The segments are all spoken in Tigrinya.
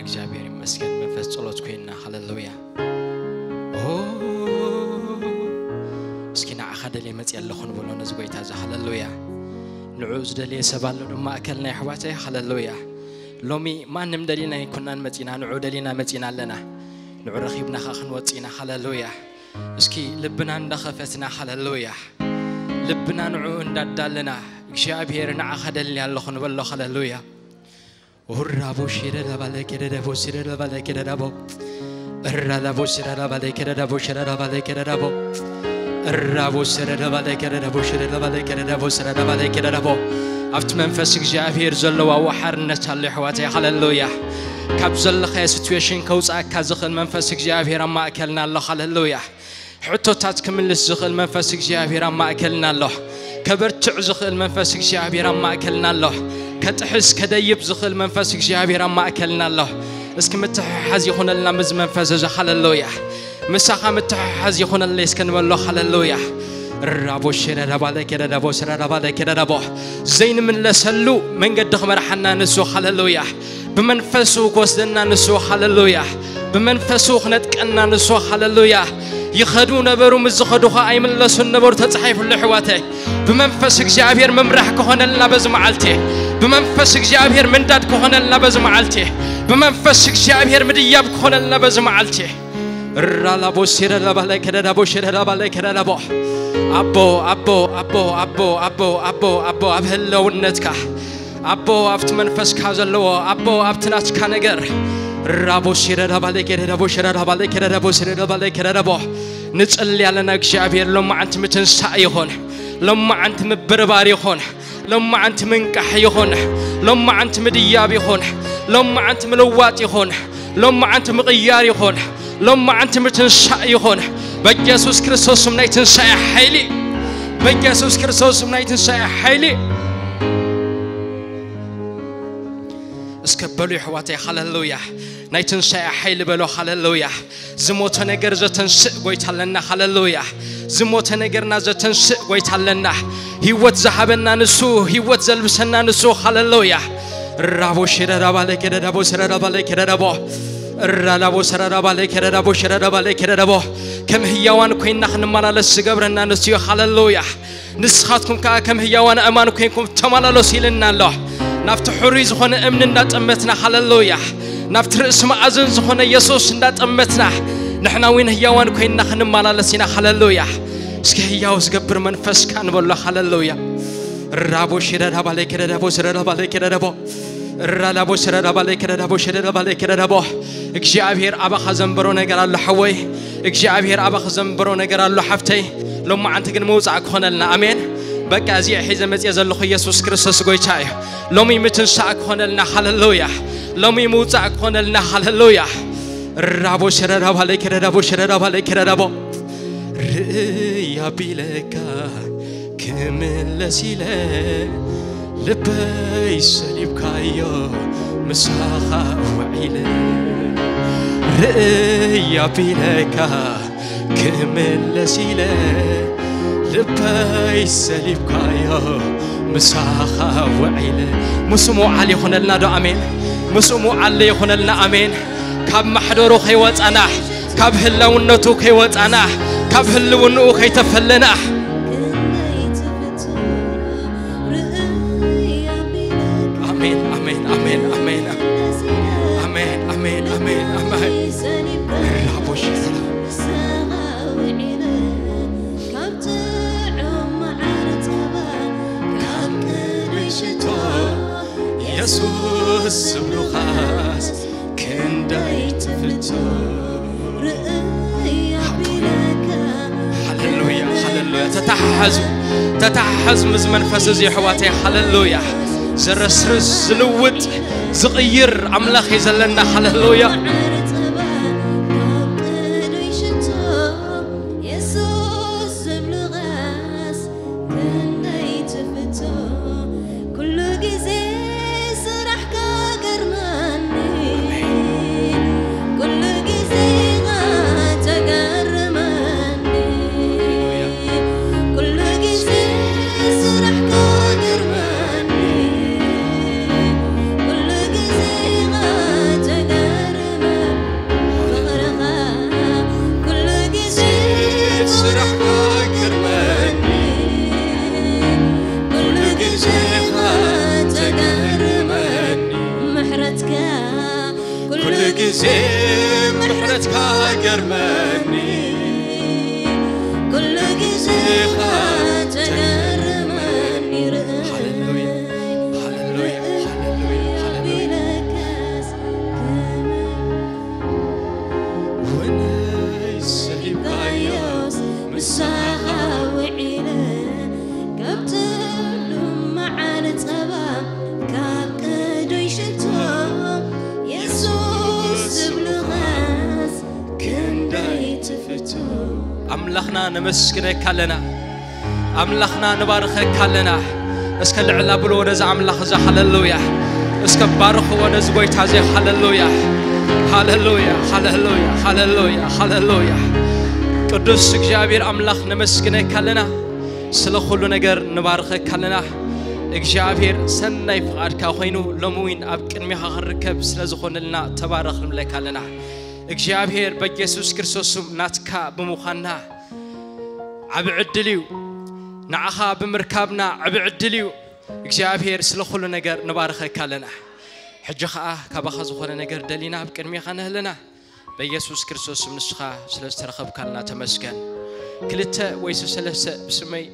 እግዚኣብሔር ይመስገን። መንፈስ ጸሎት ኮይና። ሃሌሉያ። ኦ፣ እስኪ ንዓኻ ደልየ መጽእ ኣለኹ ንበሎ ነዚ ጎይታ እዚ። ሃሌሉያ። ንዑ ዝደልየ ሰብ ኣሎ ድማ ማእከልና የሕዋተይ። ሃሌሉያ። ሎሚ ማንም ደሊና ኣይኮናን መጺና፣ ንዑ ደሊና መጺና ኣለና። ንዑ ረኺብና ኸኣ ክንወጽእ ኢና። ሃሌሉያ። እስኪ ልብና እንዳኸፈትና፣ ሃሌሉያ፣ ልብና ንዑ እንዳዳለና፣ እግዚኣብሔር ንዓኻ ደልየ ኣለኹ ንበሎ። ሃሌሉያ። ኡራቦ ሽረ ለባለ ከደደቦ ሽረ ለባለ ከደደቦ እራላቦ ሽረ ለባለ ከደደቦ ሽረ ለባለ ከደደቦ እራቦ ሽረ ለባለ ከደደቦ ሽረ ለባለ ከደደቦ ሽረ ለባለ ከደደቦ። ኣብቲ መንፈስ እግዚኣብሔር ዘለዋ ወሓርነት ኣሎ የሕዋተይ። ሃሌሉያ። ካብ ዘለኻዮ ሲትዌሽን ከውፅኣካ ዝኽእል መንፈስ እግዚኣብሔር ኣብ ማእከልና ኣሎ። ሃሌሉያ። ሕቶታት ክምልስ ዝኽእል መንፈስ እግዚኣብሔር ኣብ ማእከልና ኣሎ። ከበርትዕ ዝኽእል መንፈስ እግዚኣብሔር ኣብ ማእከልና ኣሎ። ከጥሕስ ከደይብ ዝኽእል መንፈስ እግዚኣብሔር ኣብ ማእከልና ኣሎ። እስኪ ምትሕሓዝ ይኹነልና ምስ መንፈስ እዚ። ሃሌሉያ። ምሳኻ ምትሕሓዝ ይኹነለይ እስከ ንበሎ። ሃሌሉያ። ራቦ ሽረ ዳባለ ከደ ዳቦ ሽረ ዳባለ ከደ ዳቦ። ዘይንምለሰሉ መንገዲ ክመርሓና ንሱ። ሃሌሉያ። ብመንፈሱ ክወስደና ንሱ። ሃሌሉያ። ብመንፈሱ ክነጥቀና ንሱ። ሃሌሉያ። ይኸዱ ነበሩ፣ ምስ ዝኸዱ ኸኣ ኣይምለሱን ነበሩ። ተጻሒፉሉ ኣሕዋተይ። ብመንፈስ እግዚኣብሔር ምምራሕ ክኾነልና በዚ መዓልቲ። ብመንፈስ እግዚኣብሔር ምንዳድ ክኾነልና በዚ መዓልቲ። ብመንፈስ እግዚኣብሔር ምድያብ ክኾነልና በዚ መዓልቲ። ራላቦ ሲረዳባለ ከደዳቦ ሽረዳባለ ከደዳቦ። ኣቦ ኣቦ ኣቦ ኣቦ ኣቦ ኣቦ ኣቦ ኣብ ህልውነትካ ኣቦ ኣብቲ መንፈስካ ዘለዎ ኣቦ ኣብቲ ናትካ ነገር። ራቦ ሲረዳባለ ከደዳቦ ሽረዳባለ ከደዳቦ ሽረዳባለ ከደዳቦ። ንጽሊ ኣለና እግዚኣብሔር ሎማዓንቲ ምትንሳእ ይኹን። ሎማዓንቲ ምብርባር ይኹን። ሎማዓንቲ ምንቃሕ ይኹን። ሎማዓንቲ ምድያብ ይኹን። ሎማዓንቲ ምልዋጥ ይኹን። ሎማዓንቲ ምቕያር ይኹን። ሎማዓንቲ ምትንሳእ ይኹን። በኢየሱስ ክርስቶስ ስም ናይ ትንሳኤ ሓይሊ። በኢየሱስ ክርስቶስ ስም ናይ ትንሳኤ ሓይሊ። እስከ በሉ የሕዋተይ። ሃሌሉያ። ናይ ትንሳኤ ሓይሊ በሎ። ሃሌሉያ። ዝሞተ ነገር ዘተንስእ ጎይታ ኣለና። ሃሌሉያ። ዝሞተ ነገርና ዘተንስእ ጎይታ ኣለና። ህይወት ዝሃበና ንሱ፣ ህይወት ዘልብሰና ንሱ። ሃሌሉያ። ራቦ ሽረዳባለ ከደዳቦ ሽረዳባለ ከደዳቦ እራዳቦ ሰራዳባለ ከደዳቦ ሽረዳባለ ከደዳቦ። ከም ህያዋን ኮይና ክንመላለስ ዝገብረና ንሱ እዩ። ሃሌሉያ። ንስኻትኩም ከኣ ከም ህያዋን ኣእማን ኮይንኩም ተመላለሱ ኢልና ኣሎ። ናብቲ ሕሩይ ዝኾነ እምኒ እንዳጠመትና። ሃሌሉያ። ናብቲ ርእሲ መኣዝን ዝኾነ የሱስ እንዳጠመትና ንሕና እውን ህያዋን ኮይንና ክንመላለስ ኢና። ሃሌሉያ። እስኪ ህያው ዝገብር መንፈስካ ንበሎ። ሃሌሉያ። ራቦ ሽረዳባለ ከደዳቦ ሽረዳባለ ከደዳቦ እራዳቦ ሽረዳባለ ከደዳቦ ሽረዳባለ ከደዳቦ። እግዚኣብሔር ኣባኻ ዘንበሮ ነገር ኣሎ ሓወይ። እግዚኣብሔር ኣባኻ ዘንበሮ ነገር ኣሎ ሓፍተይ። ሎማዓንቲ ግን ምውፃእ ክኾነልና። ኣሜን። በቃ እዚኣ ሒዘ መፅየ ዘለኹ ኢየሱስ ክርስቶስ ጎይታ እዩ። ሎሚ ምትንሳእ ክኾነልና። ሃሌሉያ። ሎሚ ምውፃእ ክኾነልና። ሃሌሉያ። ራቦ ሽረዳባለ ከደዳቦ ሽረዳባለ ከደዳቦ። ርእይ ኣቢለካ ክምለስ ኢለ ልበይ ሰሊብካዮ ምሳኻ ውዒለ። ርእይ ኣቢለካ ክምለስ ኢለ ልበይ ሰሊብካዮ ምሳኻ ውዒለ። ምስኡ ምውዓል ይኹነልና ዶ? ኣሜን። ምስኡ ምውዓል ይኹነልና። ኣሜን። ካብ ማሕደሩ ከይወጻና፣ ካብ ህላውነቱ ከይወጻና፣ ካብ ህልውንኡ ከይተፈለና። ኣሜን፣ ኣሜን፣ ኣሜን፣ ኣሜን። ኣሜን፣ ኣሜን፣ ኣሜን፣ ኣሜን። ራቦሽ ሽቶ የሱስ ዝብሉኻስ ክንደይ ትፍቶ። ርእይ ኣቢለካ ሃሌሉያ፣ ሃሌሉያ። ተተሓሓዙ፣ ተተሓሓዙ ምስ መንፈስ እዚ ኣሕዋተይ። ሃሌሉያ። ዘረስርስ፣ ዝልውጥ፣ ዝቕይር ኣምላኽ እዩ ዘለና። ሃሌሉያ። ማዕረ ጸባ ካብ ቅዱይ ሽቶ የሱስ ዝብሉኻስ ክንደይ ትፍቶ። ኩሉ ግዜ ስራሕካ ገርመኒ። ኩሉ ግዜ ተገርመኒ። ኩሉ ግዜ ስራሕካ ገርመኒ። ኩሉ ግዜ ተገ- ምሕረትካ ገርመኒ፣ ኩሉ ግዜ ኢኻ ተገርመኒ። ሃሌሉያ፣ ሃሌሉያ፣ ሃሌሉያ፣ ሃሌሉያ። ወነይ ሰሊብካዮስ ምሳኻ ውዒለ፣ ካብ ጥሉም መዓር ጸባ፣ ካብ ቅዱይ ሽቶ፣ የሱስ ዝብሉኻስ ክንደይ ትፍቶ። ኣምላኽና ነመስግነካ ኣለና። ኣምላኽና ንባርኸካ ኣለና። እስከ ልዕል ኣብልዎ ነዚ ኣምላኽ እዚ። ሃሌሉያ። እስከ ባርኽዎ ነዚ ጎይታ እዚ። ሃሌሉያ፣ ሃሌሉያ፣ ሃሌሉያ፣ ሃሌሉያ፣ ሃሌሉያ። ቅዱስ እግዚኣብሔር ኣምላኽ ነመስግነካ ኣለና። ስለ ኩሉ ነገር ንባርኸካ ኣለና። እግዚኣብሔር ሰናይ ፍቓድካ ኮይኑ ሎሚ እውን ኣብ ቅድሚኻ ክንርከብ ስለ ዝኾነልና ተባረኽ ንብለካ ኣለና። እግዚኣብሔር በኢየሱስ ክርስቶስ ስም ናትካ ብምዃንና ዓቢ ዕድል እዩ። ንዓኻ ብምርካብና ዓቢ ዕድል እዩ። እግዚኣብሔር ስለ ኩሉ ነገር ንባርኸካ ኣለና። ሕጂ ኸኣ ካባኻ ዝኾነ ነገር ደሊና ኣብ ቅድሜኻ ንህለና። በኢየሱስ ክርስቶስ ስም ንስኻ ስለ ዝተረኸብካልና ተመስገን። ክልተ ወይ ሰለስተ ብስመይ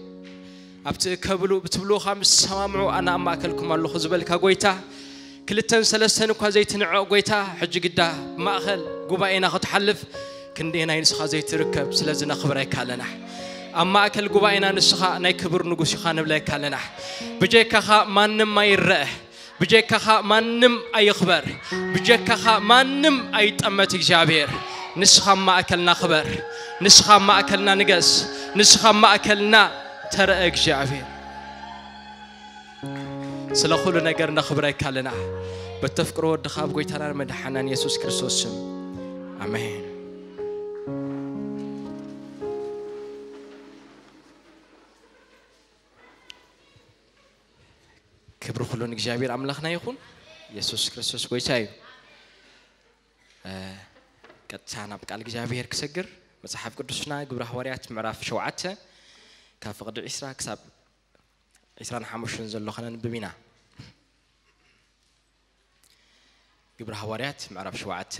ኣብቲ ከብሉ ብትብልዎ ምስ ሰማምዑ ኣነ ኣብ ማእከልኩም ኣለኹ ዝበልካ ጎይታ፣ ክልተን ሰለስተን እኳ ዘይትንዕቕ ጎይታ፣ ሕጂ ግዳ ብማእከል ጉባኤና ክትሓልፍ ክንደየናይ ንስኻ ዘይትርከብ። ስለዚ ነኽብረካ ኣለና። ኣብ ማእከል ጉባኤና ንስኻ ናይ ክብር ንጉስ ኢኻ ንብለካ ኣለና። ብጀካኻ ማንም ኣይረአ፣ ብጀካኻ ማንም ኣይኽበር፣ ብጀካኻ ማንም ኣይጠመት። እግዚኣብሔር ንስኻ ኣብ ማእከልና ክበር፣ ንስኻ ኣብ ማእከልና ንገስ፣ ንስኻ ኣብ ማእከልና ተረአ እግዚኣብሔር። ስለ ኩሉ ነገር ነኽብረካ ኣለና። በተፍቅሮ ወድኻ ኣብ ጎይታናን መድሓናን የሱስ ክርስቶስ ስም ኣሜን። ክብሪ ኩሉ ንእግዚኣብሔር ኣምላኽና ይኹን። የሱስ ክርስቶስ ጎይታ እዩ። እ፣ ቀጥታ ናብ ቃል እግዚኣብሔር ክሰግር መጽሓፍ ቅዱስና ግብረ ሃዋርያት ምዕራፍ ሸውዓተ ካብ ፍቕዲ ዒስራ ክሳብ ዒስራን ሓሙሽተን ዘሎ ከነንብብ ኢና። ግብረ ሃዋርያት ምዕራፍ ሸውዓተ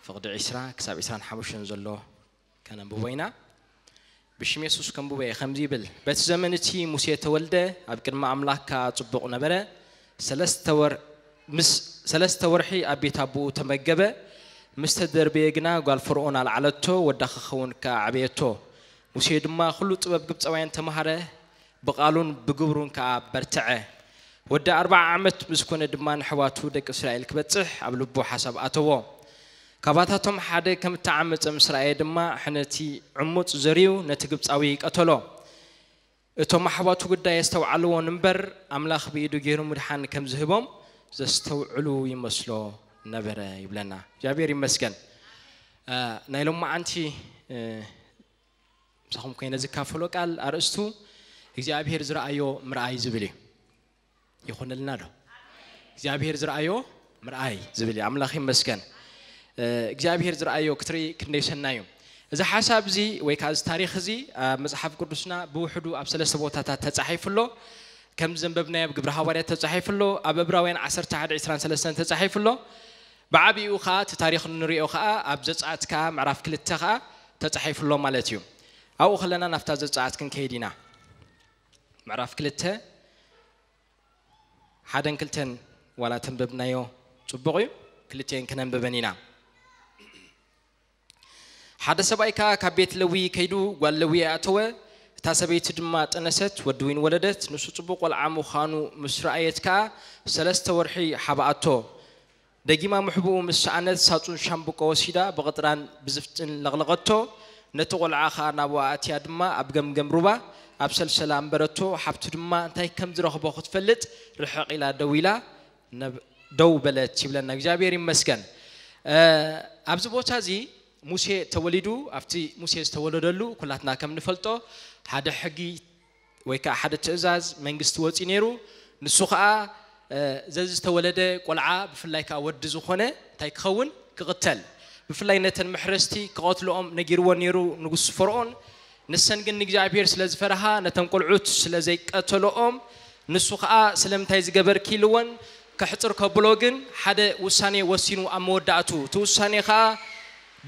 ፍቕዲ ዒስራ ክሳብ ዒስራን ሓሙሽተን ዘሎ ከነንብቦ ኢና። ብሽም የሱስ ከንብቦ እየ። ከምዚ ይብል፣ በቲ ዘመን እቲ ሙሴ ተወልደ፣ ኣብ ቅድሚ ኣምላኽ ከኣ ጽቡቕ ነበረ። ሰለስተ ወር-፣ ምስ ሰለስተ ወርሒ ኣብ ቤት ኣቦኡ ተመገበ። ምስ ተደርበየ ግና ጓል ፈርኦን ኣልዓለቶ፣ ወዳ ክኸውን ከኣ ዓበየቶ። ሙሴ ድማ ኩሉ ጥበብ ግብጻውያን ተማሃረ፣ ብቓሉን ብግብሩን ከኣ በርትዐ። ወዲ ኣርብዓ ዓመት ምስ ኮነ ድማ ንኣሕዋቱ ደቂ እስራኤል ክበጽሕ ኣብ ልቡ ሓሳብ ኣተዎ። ካባታቶም ሓደ ከም እተዓመጸ ምስ ረኣየ ድማ፣ ሕነቲ ዕሙጽ ዘርዩ ነቲ ግብጻዊ ቀተሎ። እቶም ኣሕዋቱ ግዳ የስተውዓልዎን እምበር፣ ኣምላኽ ብኢዱ ገይሩ ምድሓን ከም ዝህቦም ዘስተውዕሉ ይመስሎ ነበረ ይብለና። እግዚኣብሔር ይመስገን። እ፣ ናይ ሎማዓንቲ፣ እ፣ ምሳኹም ኮይነ ዝካፈሎ ቃል ኣርእስቱ እግዚኣብሔር ዝረኣዮ ምርኣይ ዝብል እዩ። ይኹንልና ዶ? እግዚኣብሔር ዝረኣዮ ምርኣይ ዝብል እዩ። ኣምላኽ ይመስገን። እ፣ እግዚኣብሔር ዝረኣዮ ክትርኢ ክንደይ ሰናይ እዩ። እዚ ሓሳብ እዚ ወይ ከዓ እዚ ታሪኽ እዚ ኣብ መጽሓፍ ቅዱስና ብውሕዱ ኣብ ሰለስተ ቦታታት ተጻሒፉ ኣሎ። ከም ዘንበብናዮ ኣብ ግብረ ሃዋርያት ተጻሒፉ ኣሎ፣ ኣብ ዕብራውያን ዓሰርተ ሓደ ዕስራን ሰለስተን ተጻሒፉ ኣሎ። ብዓቢኡ ከዓ እቲ ታሪኽ እንሪኦ ከዓ ኣብ ዘጸኣት ከዓ ምዕራፍ ክልተ ከዓ ተጻሒፉ ኣሎ ማለት እዩ። ኣብኡ ከለና ናብታ ዘጸኣት ክንከይድ ኢና። ምዕራፍ ክልተ ሓደን ክልተን ዋላ ተንበብናዮ ጽቡቕ እዩ፣ ክልቲኤን ክነንብበን ኢና። ሓደ ሰብኣይ ከኣ ካብ ቤት ለዊ ከይዱ ጓል ለዊ ኣተወ። እታ ሰበይቲ ድማ ጠነሰት፣ ወዲ እውን ወለደት። ንሱ ጽቡቕ ቆልዓ ምዃኑ ምስ ረኣየት ከኣ ሰለስተ ወርሒ ሓብኣቶ። ደጊማ ምሕብኡ ምስ ሰኣነት ሳጹን ሻምብቆ ወሲዳ ብቕጥራን ብዝፍጥን ለቕለቐቶ። ነቲ ቆልዓ ከኣ ናብኣ ኣትያ ድማ ኣብ ገምገም ሩባ ኣብ ሰልሰላ ኣንበረቶ። ሓብቱ ድማ እንታይ ከም ዝረኽቦ ክትፈልጥ ርሕቕ ኢላ ደው ኢላ ነብ-፣ ደው በለት ይብለና። እግዚኣብሔር ይመስገን። እ፣ ኣብዚ ቦታ እዚ ሙሴ ተወሊዱ፣ ኣብቲ ሙሴ ዝተወለደሉ ኩላትና ከም ንፈልጦ ሓደ ሕጊ ወይ ከዓ ሓደ ትእዛዝ መንግስቲ ወፂኡ ነይሩ። ንሱ ከዓ፣ እ፣ ዘዝተወለደ ቆልዓ ብፍላይ ከዓ ወዲ ዝኾነ እንታይ ክኸውን? ክቕተል። ብፍላይ ነተን መሕረስቲ ክቐትልኦም ነጊርዎ ነይሩ ንጉስ ፈርዖን። ንሰን ግን ንእግዚኣብሔር ስለ ዝፈርሃ ነተን ቆልዑት ስለ ዘይቀተልኦም ንሱ ከዓ ስለምንታይ ዝገበርኪ ኢልወን ከሕፅር ከብሎ ግን ሓደ ውሳኔ ወሲኑ ኣብ መወዳእቱ፣ እቲ ውሳኔ ከዓ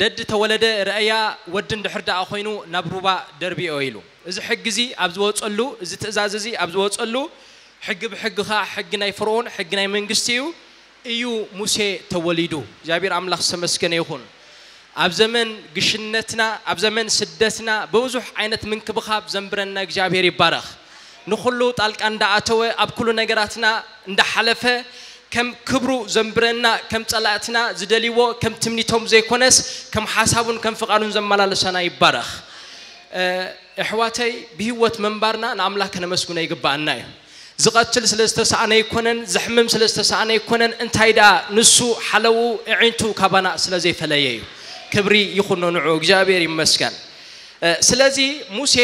ደድ ተወለደ ረእያ ወዲ እንድሕር ደኣ ኮይኑ ናብ ሩባ ደርቢኦ ኢሉ። እዚ ሕጊ እዚ ኣብ ዝወፀሉ፣ እዚ ትእዛዝ እዚ ኣብ ዝወፀሉ፣ ሕጊ ብሕጊ ከዓ ሕጊ ናይ ፈርኦን፣ ሕጊ ናይ መንግስቲ እዩ፣ እዩ ሙሴ ተወሊዱ። እግዚኣብሔር ኣምላኽ ዝተመስገነ ይኹን። ኣብ ዘመን ግሽነትና፣ ኣብ ዘመን ስደትና ብብዙሕ ዓይነት ምንክብኻብ ዘንብረና እግዚኣብሔር ይባረኽ። ንኹሉ ጣልቃ እንዳኣተወ፣ ኣብ ኩሉ ነገራትና እንዳሓለፈ፣ ከም ክብሩ ዘንብረና፣ ከም ጸላእትና ዝደልይዎ ከም ትምኒቶም ዘይኮነስ ከም ሓሳቡን ከም ፍቓዱን ዘመላለሰና ይባረኽ። እ፣ ኣሕዋተይ፣ ብህይወት ምንባርና ንኣምላኽ ከነመስግኖ ይግባኣና እዩ። ዝቐትል ስለ ዝተሳእነ ኣይኮነን፣ ዘሕምም ስለ ዝተሳእነ ኣይኮነን፣ እንታይ ደኣ ንሱ ሓለውኡ ኣዒንቱ ካባና ስለ ዘይፈለየ እዩ። ክብሪ ይኹኖ ንዑ፣ እግዚኣብሔር ይመስገን። እ፣ ስለዚ ሙሴ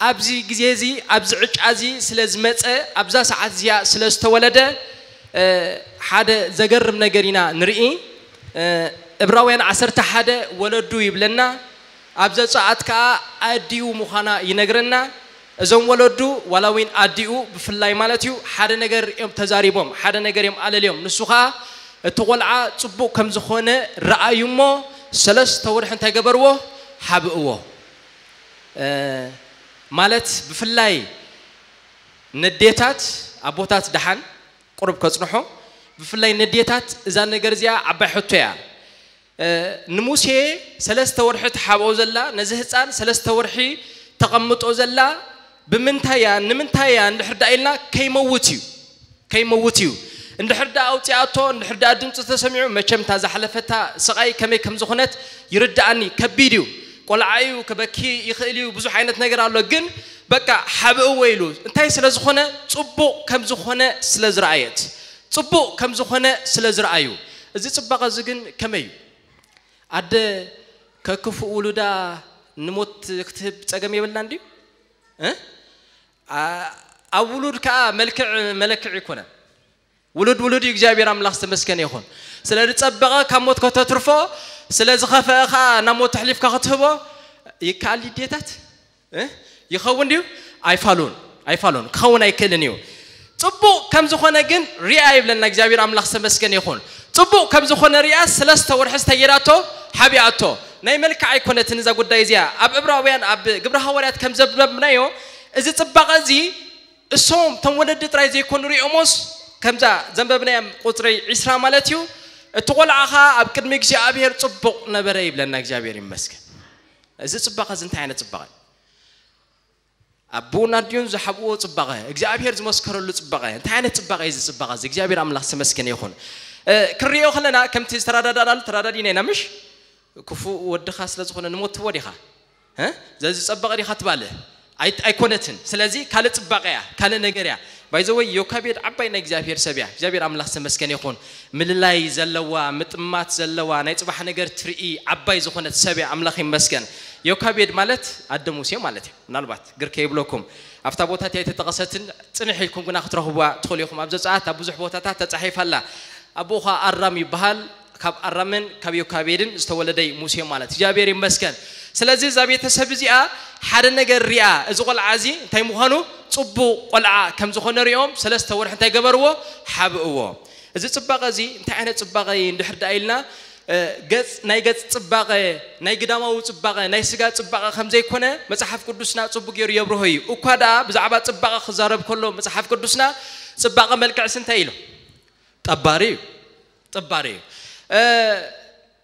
ኣብዚ ግዜ እዚ፣ ኣብዚ ዕጫ እዚ ስለ ዝመጸ፣ ኣብዛ ሰዓት እዚኣ ስለ ዝተወለደ፣ እ፣ ሓደ ዘገርም ነገር ኢና ንርኢ። እ፣ ዕብራውያን ዓሰርተ ሓደ ወለዱ ይብለና፣ ኣብ ዘጸኣት ከኣ ኣዲኡ ምዃና ይነግረና። እዞም ወለዱ ዋላ እውን ኣዲኡ ብፍላይ ማለት እዩ፣ ሓደ ነገር እዮም ተዛሪቦም፣ ሓደ ነገር እዮም ኣለልዮም። ንሱ ኸኣ እቲ ቖልዓ ጽቡቕ ከም ዝኾነ ረኣዩ እሞ ሰለስተ ወርሒ እንታይ ገበርዎ? ሓብእዎ። እ፣ ማለት ብፍላይ ነዴታት፣ ኣቦታት ደሓን ቁሩብ ከጽንሖ፣ ብፍላይ ነዴታት እዛ ነገር እዚኣ ዓባይ ሕቶ እያ። እ፣ ንሙሴ ሰለስተ ወርሒ ትሓብኦ ዘላ፣ ነዚ ህፃን ሰለስተ ወርሒ ተቐምጦ ዘላ ብምንታይ እያ፣ ንምንታይ እያ እንድሕር ደኣ ኢልና ከይመውት እዩ። ከይመውት እዩ። እንድሕር ደኣ ኣውፂኣቶ፣ እንድሕር ደኣ ድምፂ ተሰሚዑ፣ መቸም እታ ዝሓለፈታ ስቓይ ከመይ ከም ዝኾነት ይርድኣኒ። ከቢድ እዩ። ቆልዓ እዩ፣ ክበኪ ይኽእል እዩ፣ ብዙሕ ዓይነት ነገር ኣሎ። ግን በቃ ሓብእዎ ኢሉ። እንታይ ስለ ዝኾነ? ፅቡቕ ከም ዝኾነ ስለ ዝረኣየት። ፅቡቕ ከም ዝኾነ ስለ ዝረኣዩ። እዚ ፅባቐ እዚ ግን ከመይ እዩ? ኣደ ከክፉእ ውሉዳ ንሞት ክትህብ ጸገም የብላን ድዩ? እ? ኣ-፣ ኣብ ውሉድ ከኣ መልክዕ መለክዕ ይኮነን። ውሉድ ውሉድ እዩ፣ እግዚኣብሔር ኣምላኽ ዝተመስገነ ይኹን። ስለ ዝጸበቐ ካብ ሞት ከተትርፎ፣ ስለ ዝኸፈአ ከኣ ናብ ሞት ኣሕሊፍካ ክትህቦ ይከኣል ድዩ ኣዴታት? እ? ይኸውን ድዩ? ኣይፋሉን፣ ኣይፋሉን። ክኸውን ኣይክእልን እዩ። ጽቡቕ ከም ዝኾነ ግን ሪኣ ይብለና እግዚኣብሔር ኣምላኽ ዝተመስገነ ይኹን። ጽቡቕ ከም ዝኾነ ሪኣ ሰለስተ ወርሒ ዝተየዳቶ ሓቢኣቶ። ናይ መልክዕ ኣይኮነትን እዛ ጉዳይ እዚኣ። ኣብ ዕብራውያን፣ ኣብ ግብረ ሃዋርያት ከም ዘንበብናዮ፣ እዚ ጽባቐ እዚ እሶም እቶም ወለዲ ጥራይ ዘይኮኑ ሪኦሞስ፣ ከምዛ ዘንበብናዮም ቁጽሪ ዒስራ ማለት እዩ፣ እቲ ቖልዓ ኸኣ ኣብ ቅድሚ እግዚኣብሔር ጽቡቕ ነበረ ይብለና። እግዚኣብሔር ይመስገን። እዚ ጽባቐ እዚ እንታይ ዓይነት ጽባቐ እዩ? ኣቦን ኣዲኡን ዝሓብእዎ ጽባቐ፣ እግዚኣብሔር ዝመስከረሉ ጽባቐ። እንታይ ዓይነት ጽባቐ እዩ እዚ ጽባቐ እዚ? እግዚኣብሔር ኣምላኽ ዝተመስገነ ይኹን። እ፣ ክንሪኦ ከለና ከምቲ ዝተረዳዳእናሉ ተረዳዲእና ኢና፣ ምሽ? ክፉእ ወድኻ ስለ ዝኾነ ንሞት ትህቦ ዲኻ? እ? ዘዝጸበቐ ዲኻ ትባልዕ? ኣይ-፣ ኣይኮነትን። ስለዚ ካልእ ጽባቐ እያ፣ ካልእ ነገር እያ። ባይ ዘ ወይ ዮካቤድ ዓባይ ናይ እግዚኣብሔር ሰብ እያ። እግዚኣብሔር ኣምላኽ ዝተመስገነ ይኹን። ምልላይ ዘለዋ፣ ምጥማት ዘለዋ፣ ናይ ጽባሕ ነገር ትርኢ ዓባይ ዝኾነት ሰብ እያ። ኣምላኽ ይመስገን። ዮካቤድ ማለት ኣደ ሙሴ ማለት እዩ። ምናልባት ግር ከይብለኩም፣ ኣብታ ቦታት እያ ኣይተጠቐሰትን፣ ጽንሕ ኢልኩም ግና ክትረኽቡዋ ትኽእሉ ኢኹም። ኣብ ዘጸኣት ኣብ ብዙሕ ቦታታት ተጻሒፋ ኣላ። ኣቦኡ ኸኣ ኣራም ይበሃል። ካብ ኣራምን ካብ ዮካቤድን ዝተወለደ እዩ ሙሴ ማለት። እግዚኣብሔር ይመስገን። ስለዚ እዛ ቤተሰብ እዚኣ ሓደ ነገር ሪኣ፣ እዚ ቖልዓ እዚ እንታይ ምዃኑ፣ ጽቡቕ ቖልዓ ከም ዝኾነ ሪኦም፣ ሰለስተ ወርሒ እንታይ ገበርዎ? ሓብእዎ። እዚ ጽባቐ እዚ እንታይ ዓይነት ጽባቐ እዩ እንድሕር ደኣ ኢልና፣ እ፣ ገጽ፣ ናይ ገጽ ጽባቐ፣ ናይ ግዳማዊ ጽባቐ፣ ናይ ስጋ ጽባቐ ከም ዘይኮነ መጽሓፍ ቅዱስና ጽቡቕ ገይሩ የብርሆ እዩ። እኳ ደኣ ብዛዕባ ጽባቐ ክዛረብ ከሎ መጽሓፍ ቅዱስና፣ ጽባቐ መልክዕስ እንታይ ኢሉ? ጠባሪ እዩ። ጠባሪ እዩ። እ፣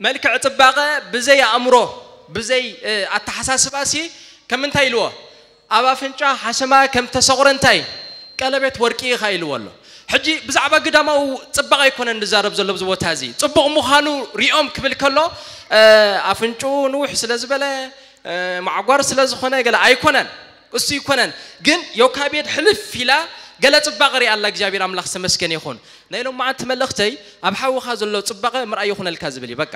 መልክዕ ጽባቐ ብዘይ ኣእምሮ፣ ብዘይ፣ እ፣ ኣተሓሳስባሲ ከም እንታይ ኢልዎ? ኣብ ኣፍንጫ ሓሰማ ከም ተሰቑረ እንታይ? ቀለቤት ወርቂ ኢኻ ኢልዎ ኣሎ። ሕጂ ብዛዕባ ግዳማዊ ጽባቐ ኣይኮነን ንዛረብ ዘሎ ኣብዚ ቦታ እዚ። ጽቡቕ ምዃኑ ሪኦም ክብል ከሎ፣ እ፣ ኣፍንጭኡ ንውሕ ስለ ዝበለ፣ እ፣ ማዕጓር ስለ ዝኾነ ገለ ኣይኮነን። እሱ ይኮነን። ግን ዮካቤድ ሕልፍ ኢላ ገለ ጽባቐ ሪኣ ኣላ። እግዚኣብሔር ኣምላኽ ዝተመስገነ ይኹን። ናይ ሎማዓንቲ መልእኽተይ ኣብ ሓውኻ ዘሎ ጽባቐ ምርኣይ ይኹነልካ ዝብል እዩ። በቃ።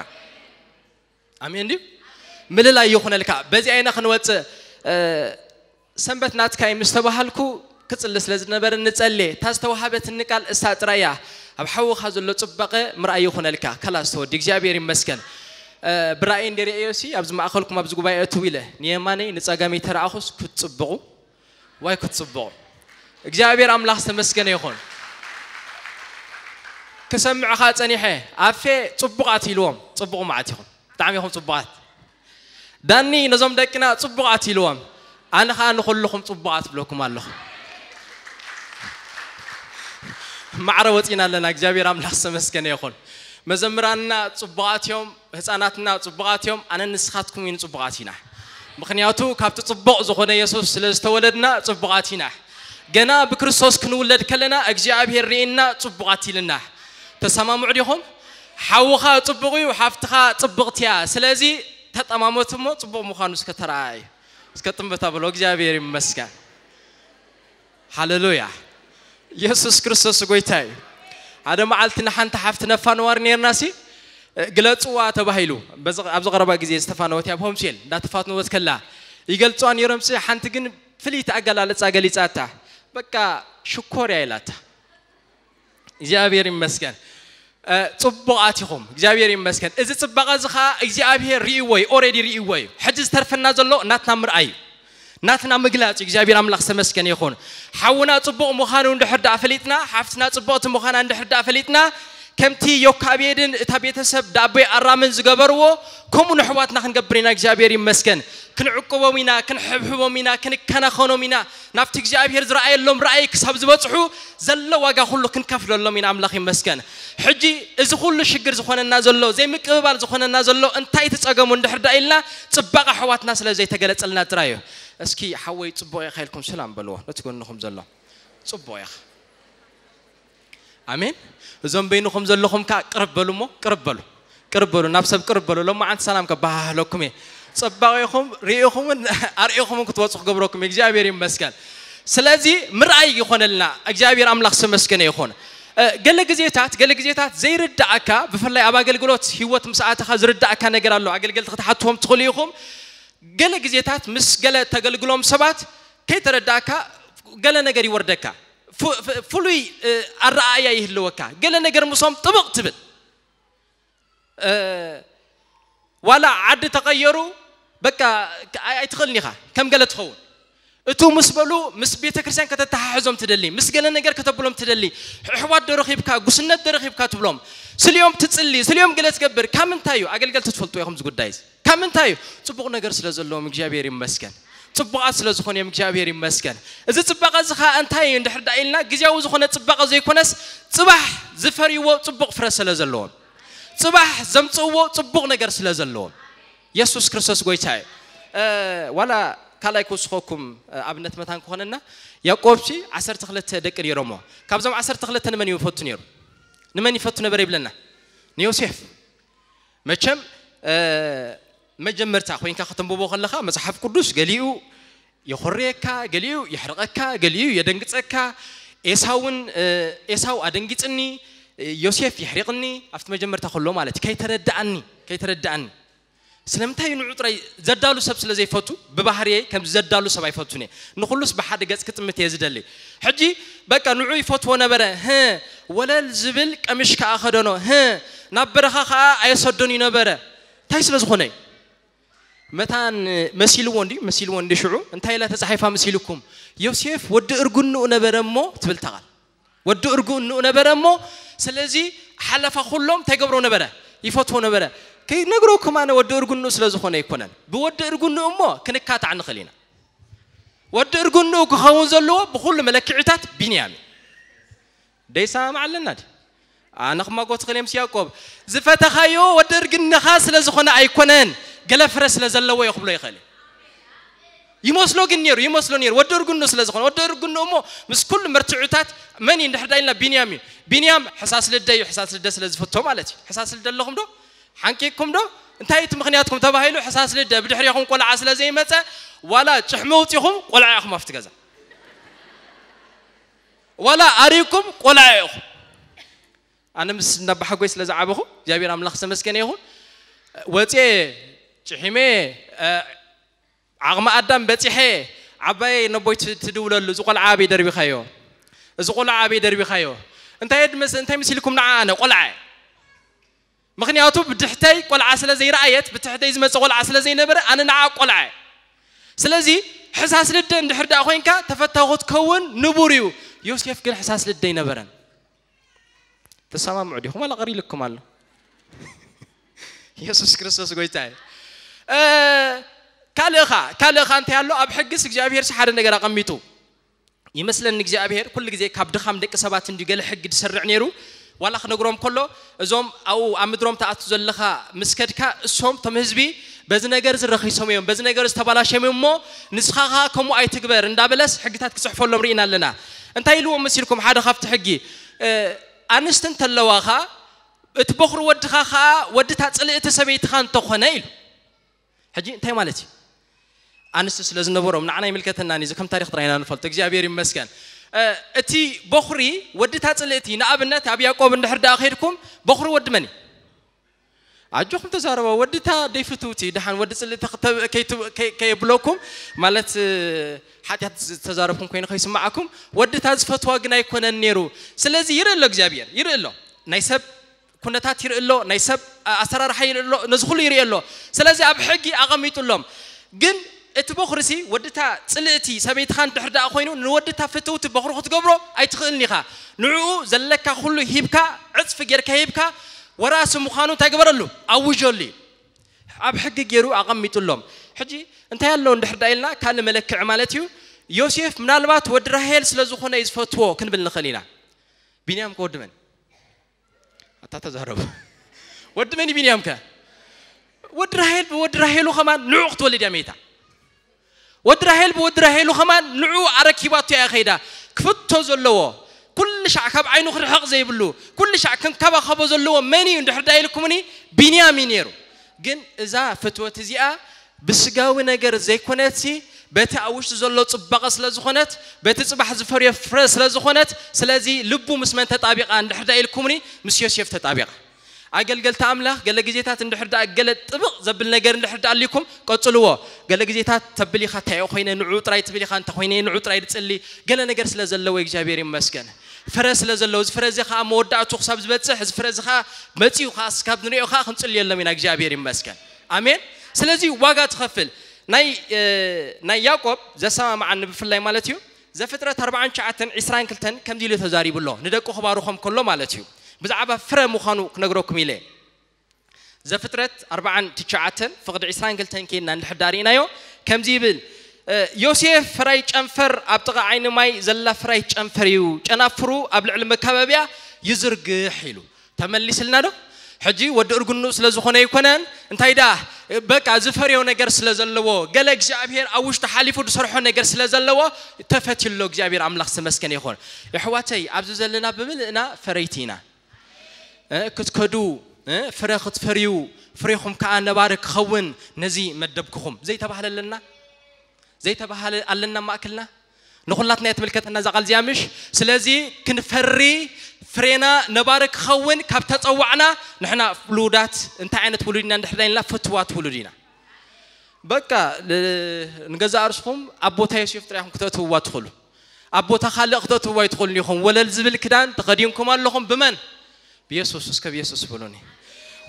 ኣሜን ድዩ? ምልላይ ይኹነልካ። በዚኣ ኢና ክንወጽእ። እ፣ ሰንበት ናትካ እዩ ምስ ተባሃልኩ ክጽሊ ስለ ዝነበረ ንጸልየ። እታ ዝተዋሃበትኒ ቃል እሳ ጥራይ እያ። ኣብ ሓውኻ ዘሎ ጽባቐ ምርኣይ ይኹነልካ። ከላስ ተወዲ፣ እግዚኣብሔር ይመስገን። እ፣ ብራእይ እንደ ርእዮሲ ኣብዚ ማእከልኩም ኣብዚ ጉባኤ እትው ኢለ ንየማነይ ንጸጋመይ ተረኣኹስ ክትጽብቑ ዋይ ክትጽብቑ። እግዚኣብሔር ኣምላኽ ዝተመስገነ ይኹን። ክሰምዕኻ ጸኒሐ ኣፌ ጽቡቓት ኢልዎም። ጽቡቕ መዓት ኢኹም፣ ብጣዕሚ ኢኹም ጽቡቓት። ዳኒ ነዞም ደቅና ጽቡቓት ኢልዎም፣ ኣነ ኸኣ ንኹልኹም ጽቡቓት ብለኩም ኣለኹ። ማዕረ ወጺና ኣለና። እግዚኣብሔር ኣምላኽ ዝተመስገነ ይኹን። መዘምራንና ጽቡቓት እዮም፣ ህፃናትና ጽቡቓት እዮም። ኣነ ንስኻትኩም እውን ጽቡቓት ኢና። ምኽንያቱ ካብቲ ጽቡቕ ዝኾነ የሱስ ስለ ዝተወለድና ጽቡቓት ኢና። ገና ብክርስቶስ ክንውለድ ከለና እግዚኣብሔር ርኢና ጽቡቓት ኢልና። ተሰማምዑ ዲኹም? ሓውኻ ጽቡቕ እዩ፣ ሓፍትኻ ጽብቕቲ እያ። ስለዚ ተጠማመቱ እሞ ጽቡቕ ምዃኑ እስከ ተረኣዩ። እስከ ጥምበታ በሎ። እግዚኣብሔር ይመስገን። ሃሌሉያ። ኢየሱስ ክርስቶስ ጎይታ እዩ። ሓደ መዓልቲ ንሓንቲ ሓፍቲ ነፋንዋር ነርና ሲ ግለጽዋ ተባሂሉ። በዚ ኣብዚ ቀረባ ግዜ ዝተፋነወት ኣብ ሆምሴል እንዳተፋነወት ከላ ይገልጽዋ ነሮም ሲ ሓንቲ ግን ፍልይቲ ኣገላልጻ ገሊጻታ። በቃ ሽኮር እያ ኢላታ። እግዚኣብሔር ይመስገን። ጽቡቓት ኢኹም። እግዚኣብሔር ይመስገን። እዚ ጽባቐ እዚ ኸኣ እግዚኣብሔር ርእይዎ እዩ፣ ኦሬዲ ርእይዎ እዩ። ሕጂ ዝተርፈና ዘሎ ናትና ምርኣይ እዩ። ናትና ምግላጽ እዩ። እግዚኣብሔር ኣምላኽ ዝተመስገነ ይኹን። ሓውና ጽቡቕ ምዃኑ እንድሕር ደኣ ፈሊጥና፣ ሓፍትና ጽቡቕቲ ምዃና እንድሕር ደኣ ፈሊጥና፣ ከምቲ ዮካብየድን እታ ቤተሰብ ዳቦይ ኣራምን ዝገበርዎ፣ ከምኡ ንኣሕዋትና ክንገብር ኢና። እግዚኣብሔር ይመስገን። ክንዕቅቦም ኢና፣ ክንሕብሕቦም ኢና፣ ክንከናኸኖም ኢና። ናብቲ እግዚኣብሔር ዝረኣየሎም ራእይ ክሳብ ዝበጽሑ ዘሎ ዋጋ ኩሉ ክንከፍለሎም ኢና። ኣምላኽ ይመስገን። ሕጂ እዚ ኩሉ ሽግር ዝኾነና ዘሎ፣ ዘይምቅብባል ዝኾነና ዘሎ እንታይ እቲ ጸገሙ እንድሕር ደኣ ኢልና፣ ጽባቐ ኣሕዋትና ስለ ዘይተገለጸልና ጥራይ እዩ። እስኪ ሓወይ ጽቡቕ ኢኻ ኢልኩም ሰላም በልዎ ነቲ ጎንኹም ዘሎ። ጽቡቕ ኢኻ። ኣሜን። እዞም በይንኹም ዘለኹም ከኣ ቅርብ በሉ እሞ፣ ቅርብ በሉ። ቅርብ በሉ፣ ናብ ሰብ ቅርብ በሉ። ሎማዓንቲ ሰላም ከባሃህለኩም እየ። ጽባቐኹም ርኢኹምን ኣርኢኹምን ክትወጹ ክገብረኩም እየ። እግዚኣብሔር ይመስገን። ስለዚ ምርኣይ ይኾነልና። እግዚኣብሔር ኣምላኽ ዝተመስገነ ይኹን። እ፣ ገለ ግዜታት፣ ገለ ግዜታት ዘይርድኣካ፣ ብፍላይ ኣብ ኣገልግሎት ህይወት ምስ ኣተኻ ዝርድኣካ ነገር ኣሎ። ኣገልገልቲ ክትሓትዎም ትኽእሉ ኢኹም። ገለ ግዜታት ምስ ገለ ተገልግሎም ሰባት ከይተረዳእካ ገለ ነገር ይወርደካ። ፉ-፣ ፍ-፣ ፍሉይ፣ እ፣ ኣረኣእያ ይህልወካ። ገለ ነገር ምሶም ጥብቕ ትብል። እ፣ ዋላ ዓዲ ተቐየሩ፣ በቃ፣ ኣይ-፣ ኣይትኽእልን ኢኻ። ከም ገለ ትኸውን። እቱ ምስ በሉ፣ ምስ ቤተ ክርስቲያን ከተተሓሕዞም ትደሊ፣ ምስ ገለ ነገር ከተብሎም ትደሊ፣ ኣሕዋት ዶ ረኺብካ፣ ጉስነት ዶ ረኺብካ ትብሎም። ስልዮም ትጽሊ፣ ስልዮም ገለ ትገብር። ካብ ምንታይ እዩ? ኣገልገልቲ ትፈልጡ ኢኹም እዚ ጉዳይ እዚ። ካብ ምንታይ እዩ? ጽቡቕ ነገር ስለ ዘለዎም እግዚኣብሔር ይመስገን። ጽቡቓት ስለ ዝኾኑ እዮም እግዚኣብሔር ይመስገን። እዚ ጽባቐ እዚ ኸኣ እንታይ እዩ እንድሕር ደኣ ኢልና፣ ግዜያዊ ዝኾነ ጽባቐ ዘይኮነስ፣ ጽባሕ ዝፈርይዎ ጽቡቕ ፍረ ስለ ዘለዎም፣ ጽባሕ ዘምጽእዎ ጽቡቕ ነገር ስለ ዘለዎም። የሱስ ክርስቶስ ጎይታ እዩ። እ፣ ዋላ ካልኣይ ክውስኸኩም፣ እ፣ ኣብነት መታን ክኾነና፣ ያዕቆብሲ ዓሰርተ ክልተ ደቂ ነይሮሞ። ካብዞም ዓሰርተ ክልተ ንመን እዩ ይፈቱ ነይሩ? ንመን ይፈቱ ነበረ ይብለና? ንዮሴፍ። መቸም፣ እ፣ መጀመርታ ኮይንካ ከተንብቦ ከለኻ መጽሓፍ ቅዱስ ገሊኡ የኾርየካ፣ ገሊኡ የሕርቐካ፣ ገሊኡ የደንግጸካ። ኤሳውን፣ እ፣ ኤሳው ኣደንጊጽኒ፣ እ፣ ዮሴፍ የሕሪቕኒ፣ ኣብቲ መጀመርታ ከሎ ማለት እዩ። ከይተረድኣኒ፣ ከይተረድኣኒ። ስለምንታይ ንዑ ጥራይ ዘዳሉ ሰብ ስለ ዘይፈቱ፣ ብባህርየይ ከምዚ ዘዳሉ ሰብ ኣይፈቱን እየ። ንኹሉስ ብሓደ ገጽ ክጥምት እየ ዝደሊ። ሕጂ በቃ ንዑ ይፈትዎ ነበረ። ህ፣ ወለል ዝብል ቀሚሽ ከኣ ከደኖ። ህ፣ ናብ በረኻ ከኣ ኣየሰዶን እዩ ነበረ። እንታይ ስለ ዝኾነ እዩ? መታን መሲልዎ እንዲ፣ መሲልዎ እንዲ ሽዑ እንታይ ኢላ ተጻሒፋ መሲልኩም? ዮሴፍ ወዲ እርጉንኡ ነበረ እሞ ትብል እታ ቃል። ወዲ እርጉንኡ ነበረ እሞ፣ ስለዚ ሓለፋ ኩሎም እንታይ ገብሮ ነበረ? ይፈትዎ ነበረ። ከይነግረኩም ኣነ ወዲ እርጉንኡ ስለ ዝኾነ ኣይኮነን። ብወዲ እርጉንኡ እሞ ክንካታዕ ንኽእል ኢና። ወዲ እርጉንኡ ክኸውን ዘለዎ ብኹሉ መለክዒታት ቢንያም እዩ። ደይሰማማዕ ኣለና ድዩ? ኣነ ክማጎት ክእል ምስ ያዕቆብ። ዝፈተኻዮ ወዲ እርግንኻ ስለ ዝኾነ ኣይኮነን፣ ገለ ፍረ ስለ ዘለዎ እዮ ክብሎ ይኽእል እዩ። ይመስሎ ግን ነይሩ፣ ይመስሎ ነይሩ። ወዲ እርግንኡ ስለ ዝኾነ፣ ወዲ እርግንኡ እሞ ምስ ኩሉ መርትዑታት መን እዩ እንድሕር ዳኢልና ቢንያም እዩ። ቢንያም ሕሳስ ልደ እዩ፣ ሕሳስ ልደ ስለ ዝፈቶ ማለት እዩ። ሕሳስ ልደ ኣለኹም ዶ? ሓንቂቕኩም ዶ? እንታይ እቲ ምኽንያትኩም ተባሂሉ፣ ሕሳስ ልደ ብድሕሪኹም ቆልዓ ስለ ዘይመጸ፣ ዋላ ጭሕሚ ውጺኹም ቆልዓ ኢኹም ኣብቲ ገዛ። ዋላ ኣሪኩም ቆልዓ ኢኹም። ኣነ ምስ ነባሓጎይ ስለ ዝዓበኹ እግዚኣብሔር ኣምላኽ ዝተመስገነ ይኹን። ወፅየ ጭሒመ፣ እ፣ ዓቕሚ ኣዳም በፂሐ፣ ዓባየይ ነቦይ ት-፣ ትድውለሉ፣ "እዚ ቆልዓ ኣበይ ደርቢኻዮ? እዚ ቆልዓ ኣበይ ደርቢኻዮ?" እንታይ ድመስ-፣ እንታይ መሲልኩም ንዓ ኣነ ቆልዓ እየ። ምኽንያቱ ብድሕተይ ቆልዓ ስለ ዘይረኣየት፣ ብትሕተይ ዝመፀ ቆልዓ ስለ ዘይነበረ፣ ኣነ ንዓ ቆልዓ እየ። ስለዚ ሕሳስ ልደ እንድሕር ደኣ ኮይንካ ተፈታዊ ክትከውን ንቡር እዩ። ዮሴፍ ግን ሕሳስ ልደ ኣይነበረን። ተሰማምዑ ዲኹም ዋላ ቀሪልኩም ኣሎ? ኢየሱስ ክርስቶስ ጎይታ እዩ። ካልእኻ ካልእኻ እንታይ ኣሎ? ኣብ ሕግስ እግዚኣብሔር ሓደ ነገር ኣቐሚጡ ይመስለኒ። እግዚኣብሔር ኩሉ ግዜ ካብ ድኻም ደቂ ሰባት እንዲ ገለ ሕጊ ዝሰርዕ ነይሩ። ዋላ ክነግሮም ከሎ እዞም ኣብኡ ኣብ ምድሮም ተኣቱ ዘለኻ ምስ ከድካ እሶም ቶም ህዝቢ በዚ ነገር ዝረኺሶም እዮም፣ በዚ ነገር ዝተባላሸም እዮም እሞ ንስኻ ኸዓ ከምኡ ኣይትግበር እንዳበለስ ሕግታት ክጽሕፈሎም ርኢና ኣለና። እንታይ ኢልዎም መሲልኩም? ሓደ ካብቲ ሕጊ ኣንስቲ እንተለዋኻ እቲ በኹሪ ወድኻ ኸዓ ወድታ ጽልእቲ ሰበይትኻ እንተኾነ ኢሉ። ሕጂ እንታይ ማለት እዩ? ኣንስቲ ስለ ዝነበሮም ንዓና ይምልከተና እዚ ከም ታሪክ ጥራይና ንፈልጦ። እግዚኣብሔር ይመስገን። እቲ በኹሪ ወድታ ጽልእቲ ንኣብነት ኣብ ያዕቆብ እንድሕር ደኣ ከይድኩም በኹሪ ወዲ መን እዩ? ኣጆኹም ተዛረባ። ወድታ ደይፍትውቲ ደሓን ወዲ ጽልእቲ ከየብለኩም ማለት ሓጢኣት ዝተዛረብኩም ኮይኑ ከይስማዓኩም። ወድታ ዝፈትዋ ግን ኣይኮነን ነይሩ። ስለዚ ይርኢ ኣሎ እግዚኣብሔር ይርኢ ኣሎ ናይ ሰብ ኩነታት ይርኢ ኣሎ፣ ናይ ሰብ ኣሰራርሓ ይርኢ ኣሎ፣ ነዚ ኩሉ ይርኢ ኣሎ። ስለዚ ኣብ ሕጊ ኣቐሚጡሎም። ግን እቲ በኹርሲ ወድታ ጽልእቲ ሰበይትኻ እንድሕር ደኣ ኮይኑ ንወድታ ፍትውቲ በኹሪ ክትገብሮ ኣይትኽእልን ኢኻ። ንዕኡ ዘለካ ኩሉ ሂብካ ዕጽፊ ጌርካ ሂብካ ወራሲ ምዃኑ እንታይ ግበረሉ? ኣውጀሉ እዩ። ኣብ ሕጊ ገይሩ ኣቐሚጡሎም። ሕጂ እንታይ ኣሎ እንድሕር ደኣ ኢልና ካልእ መለክዒ ማለት እዩ። ዮሴፍ ምናልባት ወዲ ራሄል ስለ ዝኾነ እዩ ዝፈትዎ ክንብል ንኽእል ኢና። ቢንያም ከ ወዲ መን? ኣታ ተዛረቡ። ወዲ መን ቢንያም ከ? ወዲ ራሄል ብወዲ ራሄሉ ከማን ንዑ ክትወልድ እያ መይታ። ወዲ ራሄል ብወዲ ራሄሉ ከማን ንዑ ኣረኪባቶ እያ ከይዳ። ክፍቶ ዘለዎ ኩሉ ሻዕ ካብ ዓይኑ ክርሕቕ ዘይብሉ ኩሉ ሻዕ ክንከባኸቦ ዘለዎ መን እዩ እንድሕር ዳ ኢልኩምኒ ቢንያም እዩ ነይሩ። ግን እዛ ፍትወት እዚኣ ብስጋዊ ነገር ዘይኮነትሲ በቲ ኣብ ውሽጢ ዘሎ ጽባቐ ስለ ዝኾነት በቲ ጽባሕ ዝፈርዮ ፍረ ስለ ዝኾነት ስለዚ ልቡ ምስ መን ተጣቢቓ እንድሕር ዳ ኢልኩምኒ ምስ ዮሴፍ ተጣቢቓ። ኣገልገልቲ ኣምላኽ ገለ ግዜታት እንድሕር ደኣ ገለ ጥብቕ ዘብል ነገር እንድሕር ደኣ ኣልኩም ቀጽልዎ። ገለ ግዜታት ተብል ኢኻ እንታይ ኮይነ ንዑ ጥራይ ትብል ኢኻ እንተ ኮይነ ንዑ ጥራይ ድጽሊ ገለ ነገር ስለ ዘለዎ እግዚኣብሔር ይመስገን። ፍረ ስለ ዘለዎ እዚ ፍረ እዚ ከዓ መወዳእቱ ክሳብ ዝበጽሕ እዚ ፍረ እዚ ከዓ መጺኡ ከዓ እስካብ ንሪኦ ከዓ ክንጽልየሎም ኢና እግዚኣብሔር ይመስገን። ኣሜን። ስለዚ ዋጋ ትኸፍል ናይ ናይ ያዕቆብ ዘሰማምዓኒ ብፍላይ ማለት እዩ ዘፍጥረት ኣርባዓን ትሽዓተን ዒስራን ክልተን ከምዚ ኢሉ ተዛሪቡ ኣሎ ንደቁ ክባርኾም ከሎ ማለት እዩ። ብዛዕባ ፍረ ምዃኑ ክነግረኩም ኢለ። ዘፍጥረት ኣርባዓን ትሽዓተን ፍቕዲ ዒስራን ክልተን ከይድና እንድሕር ዳ ርኢናዮ ከምዚ ይብል። ዮሴፍ ፍራይ ጨንፈር ኣብ ጥቓ ዓይኒ ማይ ዘላ ፍራይ ጨንፈር እዩ። ጨናፍሩ ኣብ ልዕሊ መካበቢያ ይዝርግሕ ኢሉ። ተመሊስልና ዶ? ሕጂ ወዲ እርግኑ ስለ ዝኾነ ኣይኮነን እንታይ ዳ በቃ ዝፈርዮ ነገር ስለ ዘለዎ ገለ እግዚኣብሔር ኣብ ውሽጡ ሓሊፉ ዝሰርሖ ነገር ስለ ዘለዎ ተፈትዩ ኣሎ። እግዚኣብሔር ኣምላኽ ዝተመስገነ ይኹን። የሕዋተይ ኣብዚ ዘለና ብምልእና ፈረይቲ ኢና። ክትከዱ ፍረ ክትፈርዩ ፍሬኹም ከዓ ነባሪ ክኸውን ነዚ መደብክኹም ዘይተባህለ ኣለና ዘይተባህለ ኣለና ማእክልና ንኹላትና እያ ትምልከተና እዛ ቃል እዚኣ ምሽ ስለዚ ክንፈሪ ፍሬና ነባሪ ክኸውን ካብ ተፀዋዕና ንሕና ውሉዳት እንታይ ዓይነት ውሉድ ኢና እንድሕር ኢልና ፍትዋት ውሉድ ኢና በቃ ንገዛእ ርስኹም ኣብ ቦታ ዮሴፍ ጥራይኹም ክተእትውዋ ትኽእሉ ኣብ ቦታ ካልእ ክተእትውዋ ይትኽእሉ ኢኹም ወለል ዝብል ክዳን ተኸዲንኩም ኣለኹም ብመን ብየሱስ እስከ ብየሱስ ብሉኒ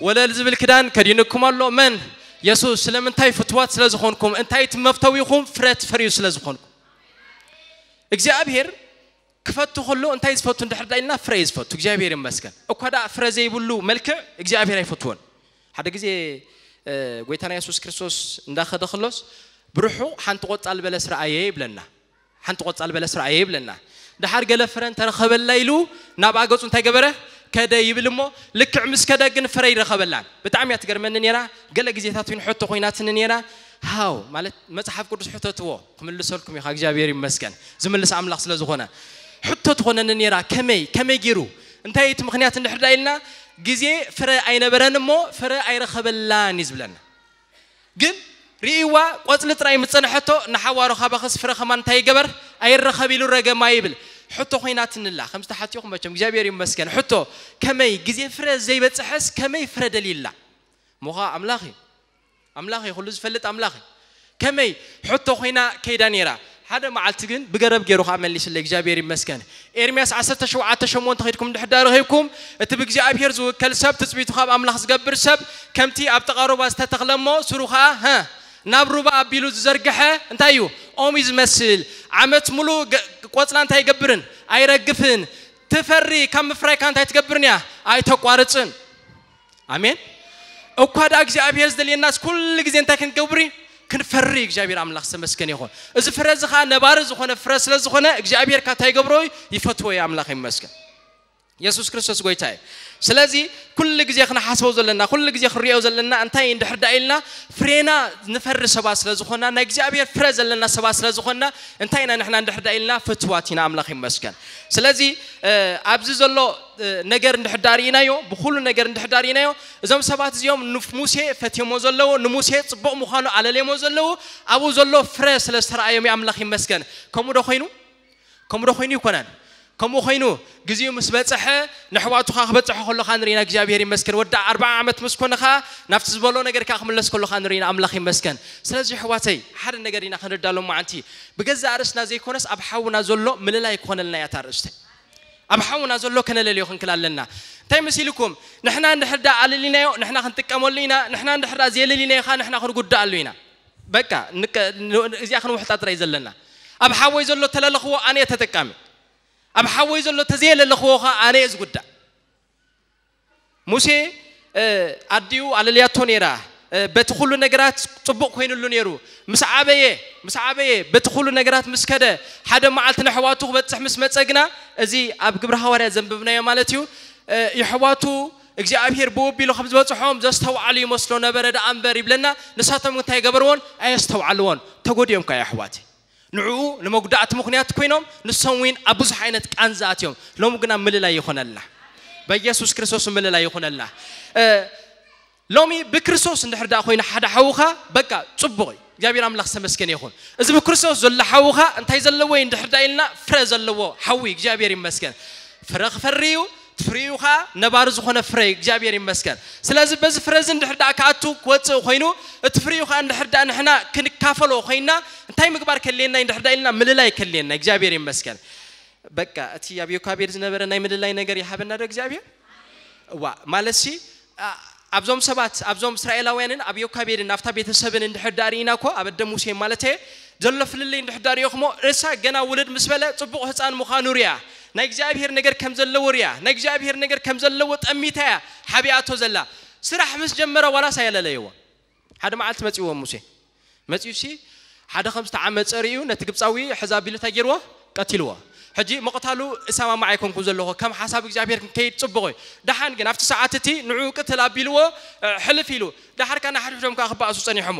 ወለል ዝብል ክዳን ከዲንኩም ኣሎ መን የሱስ ስለምንታይ ፍትዋት ስለ ዝኾንኩም እንታይ እቲ መፍተዊኹም ፍረ ትፈርዩ ስለ ዝኾንኩም እግዚኣብሔር ክፈቱ ከሎ እንታይ ዝፈቱ እንድሕር ዳ ኢልና ፍረ እዩ ዝፈቱ እግዚኣብሔር ይመስገን እኳ ዳ ፍረ ዘይብሉ መልክዕ እግዚኣብሔር ኣይፈትዎን ሓደ ግዜ ጎይታና የሱስ ክርስቶስ እንዳኸደ ከሎስ ብርሑ ሓንቲ ቆጻል በለስ ረኣየ ይብለና ሓንቲ ቆጻል በለስ ረኣየ ይብለና ድሓር ገለ ፍረ እንተረኸበላ ኢሉ ናብ ኣገጹ እንታይ ገበረ ከደ ይብል እሞ ልክዕ ምስ ከደ ግን ፍረ ይረኸበላን ብጣዕሚ እያ ትገርመኒ ነራ ገለ ግዜታት እውን ሕቶ ኮይናትኒ ነራ ሃው ማለት መጽሓፍ ቅዱስ ሕተትዎ ክምልሰልኩም ኢኻ እግዚኣብሔር ይመስገን ዝምልስ ኣምላኽ ስለ ዝኾነ ሕቶ ትኾነኒ ነራ ከመይ ከመይ ገይሩ እንታይ እቲ ምኽንያት እንድሕር ዳ ኢልና ግዜ ፍረ ኣይነበረን እሞ ፍረ ኣይረኸበላን እዩ ዝብለና ግን ርእይዋ ቆጽሊ ጥራይ ምስ ጸንሐቶ ንሓዋሩ ካባኽስ ፍረ ከማን እንታይ ይገበር ኣይረኸብ ኢሉ ረገማ ይብል ሕቶ ኮይናትንላ ከምዚ ተሓቲኹም መቸም እግዚኣብሔር ይመስገን ሕቶ ከመይ ግዜ ፍረ ዘይበጽሐስ ከመይ ፍረ ደልይላ ሞኻ ኣምላኽ እዩ ኣምላኽ እዩ ኩሉ ዝፈልጥ ኣምላኽ እዩ ከመይ ሕቶ ኮይና ከይዳ ነይራ ሓደ መዓልቲ ግን ብገረብ ገይሩ ከዓ መሊስለ እግዚኣብሔር ይመስገን ኤርምያስ ዓሰርተ ሸውዓተ ሸሞንተ ኸይድኩም እንድሕር ዳ ረኺብኩም እቲ ብእግዚኣብሔር ዝውከል ሰብ ትጽቢቱ ካብ ኣምላኽ ዝገብር ሰብ ከምቲ ኣብ ጥቓ ሩባ ዝተተኽለ እሞ ስሩ ኸዓ ናብ ሩባ ኣቢሉ ዝዘርግሐ እንታይ እዩ ኦም እዩ ዝመስል ዓመት ሙሉእ ቆፅላ እንታይ ይገብርን ኣይረግፍን ትፈሪ ካብ ምፍራይካ እንታይ ትገብርን እያ ኣይተቋርፅን። ኣሜን። እኳ ደኣ እግዚኣብሔር ዝደልየናስ ኩሉ ግዜ እንታይ ክንገብር እዩ? ክንፈሪ። እግዚኣብሔር ኣምላኽ ዝተመስገነ ይኹን። እዚ ፍረ እዚ ኸዓ ነባሪ ዝኾነ ፍረ ስለ ዝኾነ እግዚኣብሔር ካታ ይገብሮ እዩ፣ ይፈትዎ እዩ። ኣምላኽ ይመስገን። የሱስ ክርስቶስ ጎይታ እዩ። ስለዚ ኩሉ ግዜ ክንሓስበው ዘለና፣ ኩሉ ግዜ ክንሪኦ ዘለና እንታይ እንድሕር ደኣ ኢልና፣ ፍሬና ንፈሪ ሰባት ስለ ዝኾንና፣ ናይ እግዚኣብሔር ፍረ ዘለና ሰባት ስለ ዝኾንና፣ እንታይ ኢና ንሕና እንድሕር ደኣ ኢልና፣ ፍትዋት ኢና። ኣምላኽ ይመስገን። ስለዚ ኣብዚ ዘሎ ነገር እንድሕር ደኣ ርኢናዮ፣ ብኹሉ ነገር እንድሕር ደኣ ርኢናዮ፣ እዞም ሰባት እዚኦም ንሙሴ ፈትዮሞ ዘለዉ፣ ንሙሴ ጽቡቕ ምዃኑ ኣለልዮሞ ዘለዉ፣ ኣብኡ ዘሎ ፍረ ስለ ዝተረኣዮም እዩ። ኣምላኽ ይመስገን። ከምኡ ዶ ኮይኑ? ከምኡ ዶ ኮይኑ ይኮነን? ከምኡ ኮይኑ ግዜኡ ምስ በጽሐ፣ ንኣሕዋቱ ከኣ ክበጽሖ ከሎ ከኣ ንርኢና። እግዚኣብሔር ይመስገን። ወዲ ኣርብዓ ዓመት ምስ ኮነ ከኣ ናብቲ ዝበሎ ነገር ከኣ ክምለስ ከሎ ከኣ ንርኢና። ኣምላኽ ይመስገን። ስለዚ ኣሕዋተይ፣ ሓደ ነገር ኢና ክንርዳእ ሎማዓንቲ። ብገዛእ ርእስና ዘይኮነስ ኣብ ሓውና ዘሎ ምልላይ ክኾነልና እያ እታ ኣርእስቲ። ኣብ ሓውና ዘሎ ከነለልዮ ክንክል ኣለና። እንታይ መሲልኩም? ንሕና እንድሕር ደኣ ኣለሊናዮ፣ ንሕና ክንጥቀመሉ ኢና። ንሕና እንድሕር ደኣ ዘየለሊናዮ ከኣ ንሕና ክንጉድኣሉ ኢና። በቃ፣ ንቀ-፣ ን-፣ እዚኣ ክንውሕጣ ጥራይ ዘለና። ኣብ ሓወይ ዘሎ ተለለኽዎ፣ ኣነ እየ ተጠቃሚ። ኣብ ሓወይ ዘሎ ተዘየለለኽዎ ከኣ ኣነ እየ ዝጉዳእ። ሙሴ፣ እ፣ ኣዲኡ ኣለልያቶ ነይራ። እ፣ በቲ ኩሉ ነገራት ጽቡቕ ኮይኑሉ ነይሩ። ምስ ዓበየ፣ ምስ ዓበየ፣ በቲ ኩሉ ነገራት ምስ ከደ፣ ሓደ መዓልቲ ንኣሕዋቱ ክበጽሕ ምስ መጸ ግና፣ እዚ ኣብ ግብሪ ሃዋርያት ዘንብብናዮ ማለት እዩ። እ፣ የሕዋቱ እግዚኣብሔር ብኡ ኣቢሉ ከም ዝበጽሖም ዘስተውዓሉ ይመስሎ ነበረ ደኣ እምበር ይብለና። ንሳቶም እንታይ ገበርዎን? ኣየስተውዓልዎን። ተጎዲኦም ከኣ የሕዋት። ንዕኡ ንመጉዳእቲ ምኽንያት ኮይኖም፣ ንሶም እውን ኣብ ብዙሕ ዓይነት ቃንዛ ኣትዮም። ሎሚ ግና ምልላይ ይኾነልና። በኢየሱስ ክርስቶስ ምልላይ ይኾነልና። እ፣ ሎሚ ብክርስቶስ እንድሕር ደኣ ኮይኑ ሓደ ሓውኻ፣ በቃ ጽቡቕ እዩ። እግዚኣብሔር ኣምላኽ ዝተመስገነ ይኹን። እዚ ብክርስቶስ ዘሎ ሓውኻ እንታይ ዘለዎ እዩ እንድሕር ደኣ ኢልና፣ ፍረ ዘለዎ ሓዊ፣ እግዚኣብሔር ይመስገን። ፍረ ክፈሪ እዩ፣ እቲ ፍሪኡ ኸኣ ነባሪ ዝኾነ ፍረ እዩ። እግዚኣብሔር ይመስገን። ስለዚ በዚ ፍረ እዚ እንድሕር ደኣ ክኣቱ ክወጽእ ኮይኑ፣ እቲ ፍሪኡ ኸኣ እንድሕር ደኣ ንሕና ክንካፈሎ ኮይና፣ እንታይ ምግባር ከድልየና እዩ እንድሕር ደኣ ኢልና፣ ምልላይ ከድልየና። እግዚኣብሔር ይመስገን። በቃ እቲ ኣብ ዮካቤድ ዝነበረ ናይ ምልላይ ነገር ይሃበና ዶ እግዚኣብሔር? እዋ፣ ማለትሲ፣ ኣ-፣ ኣብዞም ሰባት፣ ኣብዞም እስራኤላውያንን ኣብ ዮካቤድን ኣብታ ቤተሰብን እንድሕር ደኣ ርኢና እኮ፣ ኣብ ኣደ ሙሴ ማለት እየ፣ ዘሎ ፍልልይ እንድሕር ደኣ ርኢኹሞ፣ እሳ ገና ውልድ ምስ በለ ጽቡቕ ህጻን ምዃኑ ርያ፣ ናይ እግዚኣብሔር ነገር ከም ዘለዎ ርያ፣ ናይ እግዚኣብሔር ነገር ከም ዘለዎ ጠሚታ እያ ሓቢኣቶ ዘላ። ስራሕ ምስ ጀመረ ዋላስ ኣየለለይዎ። ሓደ መዓልቲ መጺእዎ ሙሴ። መጺኡሲ ሓደ ከም ዝተዓመጸ ርእዩ ነቲ ግብጻዊ ሕዛ ኣቢሉ እንታይ ገይርዎ? ቀቲልዎ። ሕጂ ምቕታሉ እሰማማዕ ኣይኮንኩን ዘለኹ፣ ከም ሓሳብ እግዚኣብሔር ክንከይድ ጽቡቕ እዩ። ደሓን ግን ኣብቲ ሰዓት እቲ ንዕኡ ቅትል ኣቢልዎ፣ እ፣ ሕልፍ ኢሉ። ደሓር ከኣ ንሓድሕዶም ከኣ ክበኣሱ ጸኒሖሞ።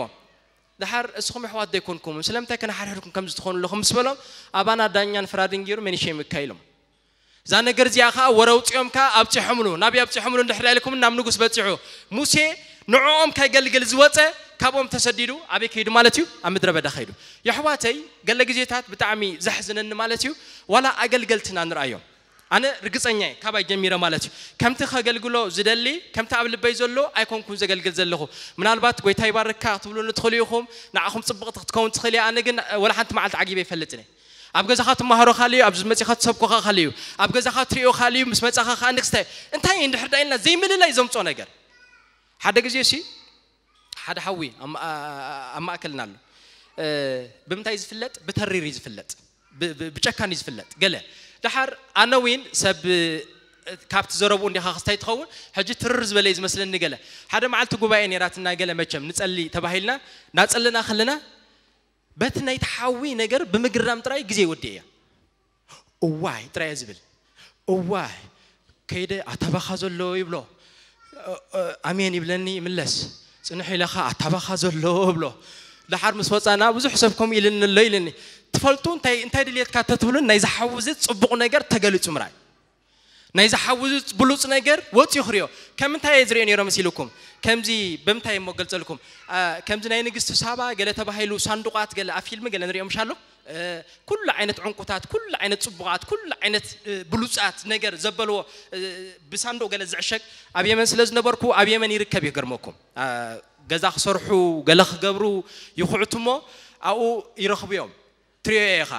ደሓር እስኹም ኣሕዋት ዶ ኣይኮንኩምን? ስለምንታይ ከ ንሓድሕድኩም ከምዚ ትኾኑ ኣለኹም? ምስ በሎም፣ ኣባና ዳኛን ፍራድን ገይሩ መን ይሸይምካ ኢሎም። እዛ ነገር እዚኣ ኸኣ ወረ ኣውጺኦም ከኣ ኣብጺሖምሉ። ናበይ ኣብጺሖምሉ እንድሕር ኢልኩም ናብ ንጉስ በጺሑ። ሙሴ ንዕኦም ከገልግል ዝወጸ ካብኦም ተሰዲዱ ኣበይ ከይዱ ማለት እዩ? ኣብ ምድረ በዳ ከይዱ። የሕዋተይ፣ ገለ ግዜታት ብጣዕሚ ዘሕዝነኒ ማለት እዩ፣ ዋላ ኣገልገልትና ንርኣዮም። ኣነ ርግጸኛ እየ፣ ካባይ ጀሚረ ማለት እዩ። ከምቲ ከገልግሎ ዝደሊ፣ ከምቲ ኣብ ልበይ ዘሎ ኣይኮንኩን ዘገልግል ዘለኹ። ምናልባት ጎይታ ይባርካ ክትብሉኒ ትኽእሉ ኢኹም፣ ንዓኹም ጽብቕቲ ክትከውን ትኽእል እያ። ኣነ ግን ወላ ሓንቲ መዓልቲ ዓጊበ ኣይፈልጥን እየ። ኣብ ገዛኻ ትመሃሮ ካልእ እዩ፣ ኣብዚ መጺኻ ትሰብኮ ኸኣ ካልእ እዩ። ኣብ ገዛኻ ትሪኦ ካልእ እዩ፣ ምስ መጻኻ ኸኣ ንክስተ። እንታይ እንድሕር ደኣ ኢልና ዘይምልላይ ዘምጾ ነገር። ሓደ ግዜ ሲ፣ ሓደ ሓዊ ኣብ ማ-፣ ኣብ ማእከልና ኣሎ። እ፣ ብምንታይ ዝፍለጥ? ብተሪር እዩ ዝፍለጥ። ብ-፣ ብ-፣ ብጨካን እዩ ዝፍለጥ። ገለ። ደሓር ኣነ እውን ሰብ፣ እ፣ ካብቲ ዘረብኡ እንዲኻ ክስታይ ትኸውን፣ ሕጂ ትርር ዝበለ እዩ ዝመስለኒ ገለ። ሓደ መዓልቲ ጉባኤ ነይራትና ገለ መቸም፣ ንጸሊ ተባሂልና፣ ናጸለና ከለና፣ በቲ ናይቲ ሓዊ ነገር ብምግራም ጥራይ ግዜ ይወድእ እየ። እዋይ ጥራይ እየ ዝብል። እዋይ፣ ከይደ ኣታባኻ ዘሎ ይብሎ። እ፣ እ፣ ኣሜን ይብለኒ ይምለስ። ጽንሕ ኢለ ኸኣ ኣታባኻ ዘሎ እብሎ። ደሓር ምስ ወጻና ብዙሕ ሰብ ከምኡ ኢልኒ ኣሎ ኢልኒ። ትፈልጡ እንታይ፣ እንታይ ድልየትካ ተትብሉን ናይዚ ሓዊ እዚ ጽቡቕ ነገር ተገሊጹ ምርኣይ። ናይዚ ሓዊ እዚ ብሉጽ ነገር ወጺኡ ክሪኦ። ከም እንታይ እየ ዝሪኦ ነይሮ መሲልኩም? ከምዚ ብምንታይ እሞ ገልጸልኩም? ኣ፣ ከምዚ ናይ ንግስቲ ሳባ ገለ ተባሂሉ ሳንዱቓት ገለ ኣብ ፊልም ገለ ንሪኦ ምሽ ኣሎ? እ፣ ኩሉ ዓይነት ዕንቁታት፣ ኩሉ ዓይነት ጽቡቓት፣ ኩሉ ዓይነት፣ እ፣ ብሉጻት ነገር ዘበልዎ፣ እ፣ ብሳንዱቕ ገለ ዝዕሸግ ኣብ የመን ስለ ዝነበርኩ ኣብ የመን ይርከብ እዩ። ገርመኩም፣ ኣ፣ ገዛ ክሰርሑ ገለ ክገብሩ ይኹዕቱ እሞ ኣብኡ ይረኽቡ እዮም። ትሪኦ ኢኻ፣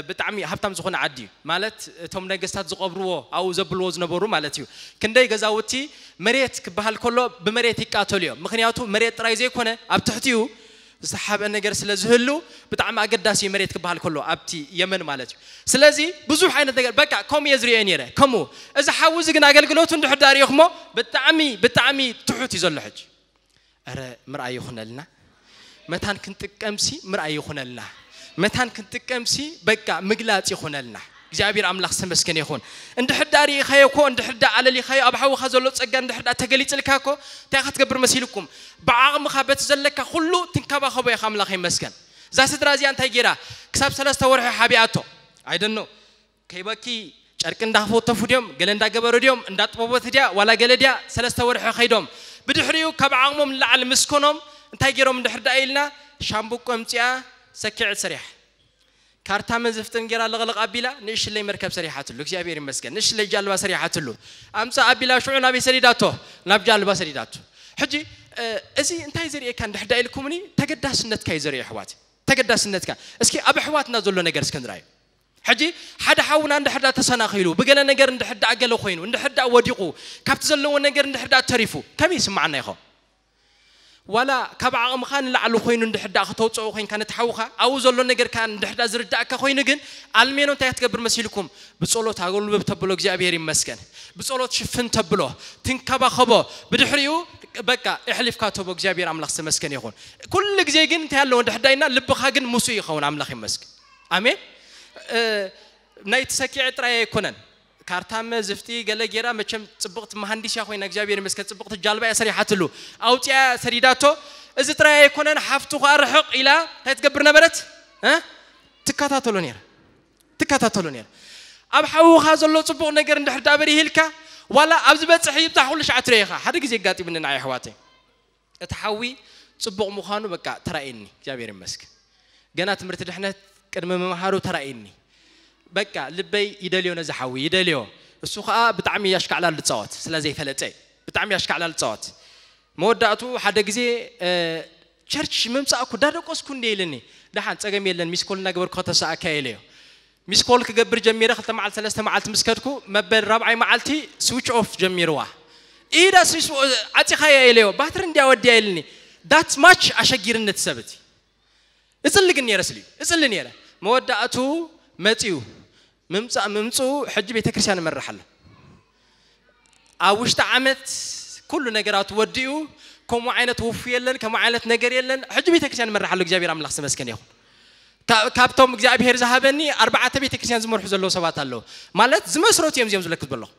ብጣዕሚ ሃብታም ዝኾነ ዓዲ እዩ። ማለት እቶም ነገስታት ዝቐብርዎ ኣብኡ ዘብልዎ ዝነበሩ ማለት እዩ። ክንደይ ገዛውቲ መሬት ክበሃል ከሎ ብመሬት ይቃተሉ እዮም። ምኽንያቱ መሬት ጥራይ ዘይኮነ ኣብ ትሕቲኡ ዝተሓብአ ነገር ስለ ዝህሉ ብጣዕሚ ኣገዳሲ መሬት ክበሃል ከሎ ኣብቲ የመን ማለት እዩ። ስለዚ ብዙሕ ዓይነት ነገር በቃ ከምኡ እየ ዝርእዮ ነይረ። ከምኡ እዚ ሓዊ እዚ ግን ኣገልግሎቱ እንድሕር ዳ ርኢኹሞ ብጣዕሚ ብጣዕሚ ትሑት እዩ ዘሎ ሕጂ። ኧረ ምርኣይ ይኹነልና። መታን ክንጥቀምሲ ምርኣይ ይኹነልና። መታን ክንጥቀምሲ በቃ ምግላጽ ይኹነልና። እግዚኣብሔር ኣምላኽ ዝተመስገነ ይኹን። እንድሕር ዳ ርኢኻዮ እኮ እንድሕር ዳ ኣለሊኻዮ ኣብ ሓውኻ ዘሎ ጸጋ እንድሕር ዳ ተገሊጽልካ እኮ እንታይ ክትገብር መሲልኩም? ብዓቕምኻ በቲ ዘለካ ኩሉ ትንከባኸቦ ኢኻ። ኣምላኽ ይመስገን። እዛ ስድራ እዚኣ እንታይ ጌራ ክሳብ ሰለስተ ወርሒ ሓቢኣቶ? I don't know። ከይበኪ ጨርቂ እንዳፈተፉ ድዮም ገለ እንዳገበሩ ድዮም እንዳጥበቦት ድያ ዋላ ገለ ድያ? ሰለስተ ወርሒ ከይዶም ብድሕሪኡ ካብ ዓቕሞም ንላዕሊ ምስኮኖም እንታይ ገይሮም እንድሕር ደኣ ኢልና ሻምብቆ ኣምፂኣ ሰኪዐት ሰሪሓ ካርታ መዝፍጥን ገይራ ለቕለቕ ኣቢላ ንእሽለይ መርከብ ሰሪሓትሉ። እግዚኣብሔር ይመስገን ንእሽለይ ጃልባ ሰሪሓትሉ። ኣምፃ ኣቢላ ሽዑ ናበይ ሰዲዳቶ? ናብ ጃልባ ሰዲዳቶ። ሕጂ እዚ እንታይ ዘርእየካ እንድሕር ደኣ ኢልኩምኒ ተገዳስነትካ እዩ ዘርእዮ ኣሕዋት። ተገዳስነትካ እስኪ ኣብ ኣሕዋትና ዘሎ ነገር እስከ ንርኣዩ። ሕጂ ሓደ ሓውና እንድሕር ዳ ተሰናኺሉ ብገለ ነገር እንድሕር ዳ ገለ ኮይኑ እንድሕር ዳ ወዲቑ ካብቲ ዘለዎ ነገር እንድሕር ዳ ተሪፉ ከመይ ይስማዓና ይኸውን? ዋላ ካብ ዓቕምኻ ንላዕሊ ኮይኑ እንድሕር ዳ ክተውፅኦ ኮይንካ ነቲ ሓውኻ ኣብኡ ዘሎ ነገር ከኣ እንድሕር ዳ ዝርዳእካ ኮይኑ ግን ኣልሜኖ እንታይ ክትገብር መሲልኩም? ብጸሎት ኣጎልብብ ተብሎ እግዚኣብሔር ይመስገን። ብጸሎት ሽፍን ተብሎ ትንከባኸቦ ብድሕሪኡ በቃ እሕሊፍካ ተቦ እግዚኣብሔር ኣምላኽ ዝተመስገን ይኹን። ኩሉ ግዜ ግን እንታይ ኣለዎ እንድሕር ዳ ኢልና ልብኻ ግን ምስኡ ይኸውን። ኣምላኽ ይመስገን። ኣሜን። ናይቲ ሰኪዐ ጥራይ ኣይኮነን። ካርታመ ዝፍጢ ገለ ጌራ መቸም ጽብቕቲ መሃንዲስ እያ ኮይና እግዚኣብሔር ይመስገን ጽብቕቲ ጃልባ እያ ሰሪሓትሉ። ኣውፅያ ሰዲዳቶ። እዚ ጥራይ ኣይኮነን ሓፍቱ ከኣ ርሕቕ ኢላ እንታይ ትገብር ነበረት? ትከታተሎ ነይራ። ትከታተሎ ነይራ። ኣብ ሓውኻ ዘሎ ጽቡቕ ነገር እንድሕር ዳበሪህ ኢልካ ዋላ ኣብ ዝበጽሕ ይብጻሕ ኩሉ ሻዕ ትረኢኻ ሓደ ግዜ ኣጋጢሙኒ ንዓይ ኣሕዋተይ። እቲ ሓዊ ጽቡቕ ምዃኑ በቃ ተራእየኒ እግዚኣብሔር ይመስገን። ገና ትምህርቲ ድሕነት ቅድሚ ምምሃሩ ተራእየኒ። በቃ ልበይ ይደልዮ ነዚ ሓዊ ይደልዮ። እሱ ኸኣ ብጣዕሚ ኣሽካዕላል ዝጻወት ስለ ዘይፈለጠ ብጣዕሚ ኣሽካዕላል ዝጻወት። መወዳእቱ ሓደ ግዜ ቸርች ምምጻእኩ ዳደቆስኩ እንደ ኢልኒ። ደሓን ጸገም የለን ሚስኮል እናገበርኩ ከተሰኣካ ኢለዮ። ሚስኮል ክገብር ጀሚረ ክልተ መዓልቲ ሰለስተ መዓልቲ ምስ ከድኩ መበል ራብዓይ መዓልቲ ስዊች ኦፍ ጀሚርዋ። ኢዳ ስዊች ዓጺኻያ ኢለዮ ባትሪ እንድያ ወድያ ኢልኒ። ዳት ማች ኣሸጊርኒ እቲ ሰብ እቲ። እጽሊ ግን ነይረ ስልዩ እጽሊ ነይረ። መወዳእቱ መጺኡ ምምጻእ ምምጽኡ ሕጂ ቤተክርስትያን እመርሕ ኣሎ። ኣብ ውሽጢ ዓመት ኩሉ ነገራቱ ወዲኡ ከምኡ ዓይነት ውፉ የለን ከምኡ ዓይነት ነገር የለን። ሕጂ ቤተክርስትያን እመርሕ ኣሎ እግዚኣብሔር ኣምላኽ ዝተመስገነ ይኹን። ካብቶም እግዚኣብሔር ዝሃበኒ ኣርባዕተ ቤተክርስትያን ዝመርሑ ዘለዉ ሰባት ኣለዉ። ማለት ዝመስረቱ እዮም እዚኦም ዝለክት ዘለኹ።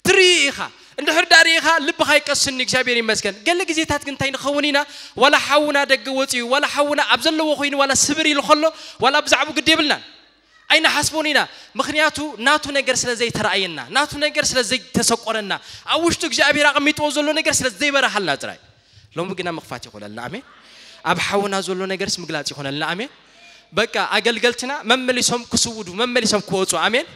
ትርኢ ኢኻ እንድሕር ዳ ርኢኻ ልብኻ ይቀስኒ እግዚኣብሔር ይመስገን። ገለ ግዜታት ግን እንታይ ንኸውን ኢና ዋላ ሓውና ደገ ወፂኡ ዋላ ሓውና ኣብ ዘለዎ ኮይኑ ዋላ ስብር ኢሉ ከሎ ዋላ ብዛዕቡ ግዲ የብልናን። ኣይንሓስቦን ኢና። ምኽንያቱ ናቱ ነገር ስለ ዘይተረኣየና ናቱ ነገር ስለ ዘይተሰቆረና ኣብ ውሽጡ እግዚኣብሔር ኣቐሚጥዎ ዘሎ ነገር ስለ ዘይበረሃልና ጥራይ። ሎሚ ግና ምኽፋት ይኾነልና ኣሜን። ኣብ ሓውና ዘሎ ነገርስ ምግላፅ ይኾነልና ኣሜን። በቃ ኣገልገልትና መመሊሶም ክስውዱ መመሊሶም ክወፁ ኣሜን።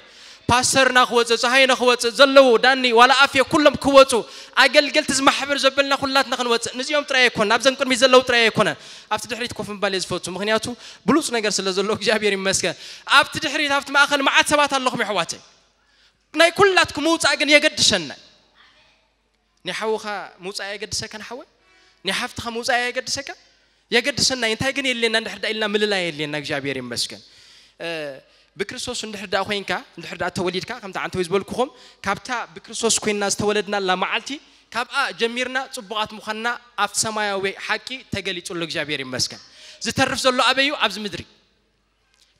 ፓስተርና ክወፅእ ፀሃይነ ክወፅእ ዘለዉ ዳኒ ዋላ ኣፍየ ኩሎም ክወፁ ኣገልገልቲ ዝማሕበር ዘበልና ኩላትና ክንወፅእ ንዚኦም ጥራይ ኣይኮን ኣብዘን ቅድሚት ዘለዉ ጥራይ ኣይኮነን። ኣብቲ ድሕሪት ኮፍ ምባል እየ ዝፈቱ ምክንያቱ ብሉፅ ነገር ስለ ዘሎ እግዚኣብሔር ይመስገን። ኣብቲ ድሕሪት ኣብቲ ማእኸል መዓት ሰባት ኣለኹም የሕዋተይ። ናይ ኩላትኩም ምውፃእ ግን የገድሸና። ናይ ሓውኻ ምውፃእ የገድሰካ ንሓወይ ናይ ሓፍትኻ ምውፃእ የገድሰካ። የገድሰና እንታይ ግን የድልየና እንድሕር ዳ ኢልና ምልላይ የድልየና እግዚኣብሔር ይመስገን። ብክርስቶስ እንድሕር ዳ ኮይንካ እንድሕር ዳ ተወሊድካ ከምቲ ዓንተዊ ዝበልኩኹም ካብታ ብክርስቶስ ኮይንና ዝተወለድናላ መዓልቲ ካብኣ ጀሚርና ፅቡቓት ምዃንና ኣብቲ ሰማያዊ ሓቂ ተገሊፁ ኣሎ እግዚኣብሔር ይመስገን። ዝተርፍ ዘሎ ኣበዩ ኣብዚ ምድሪ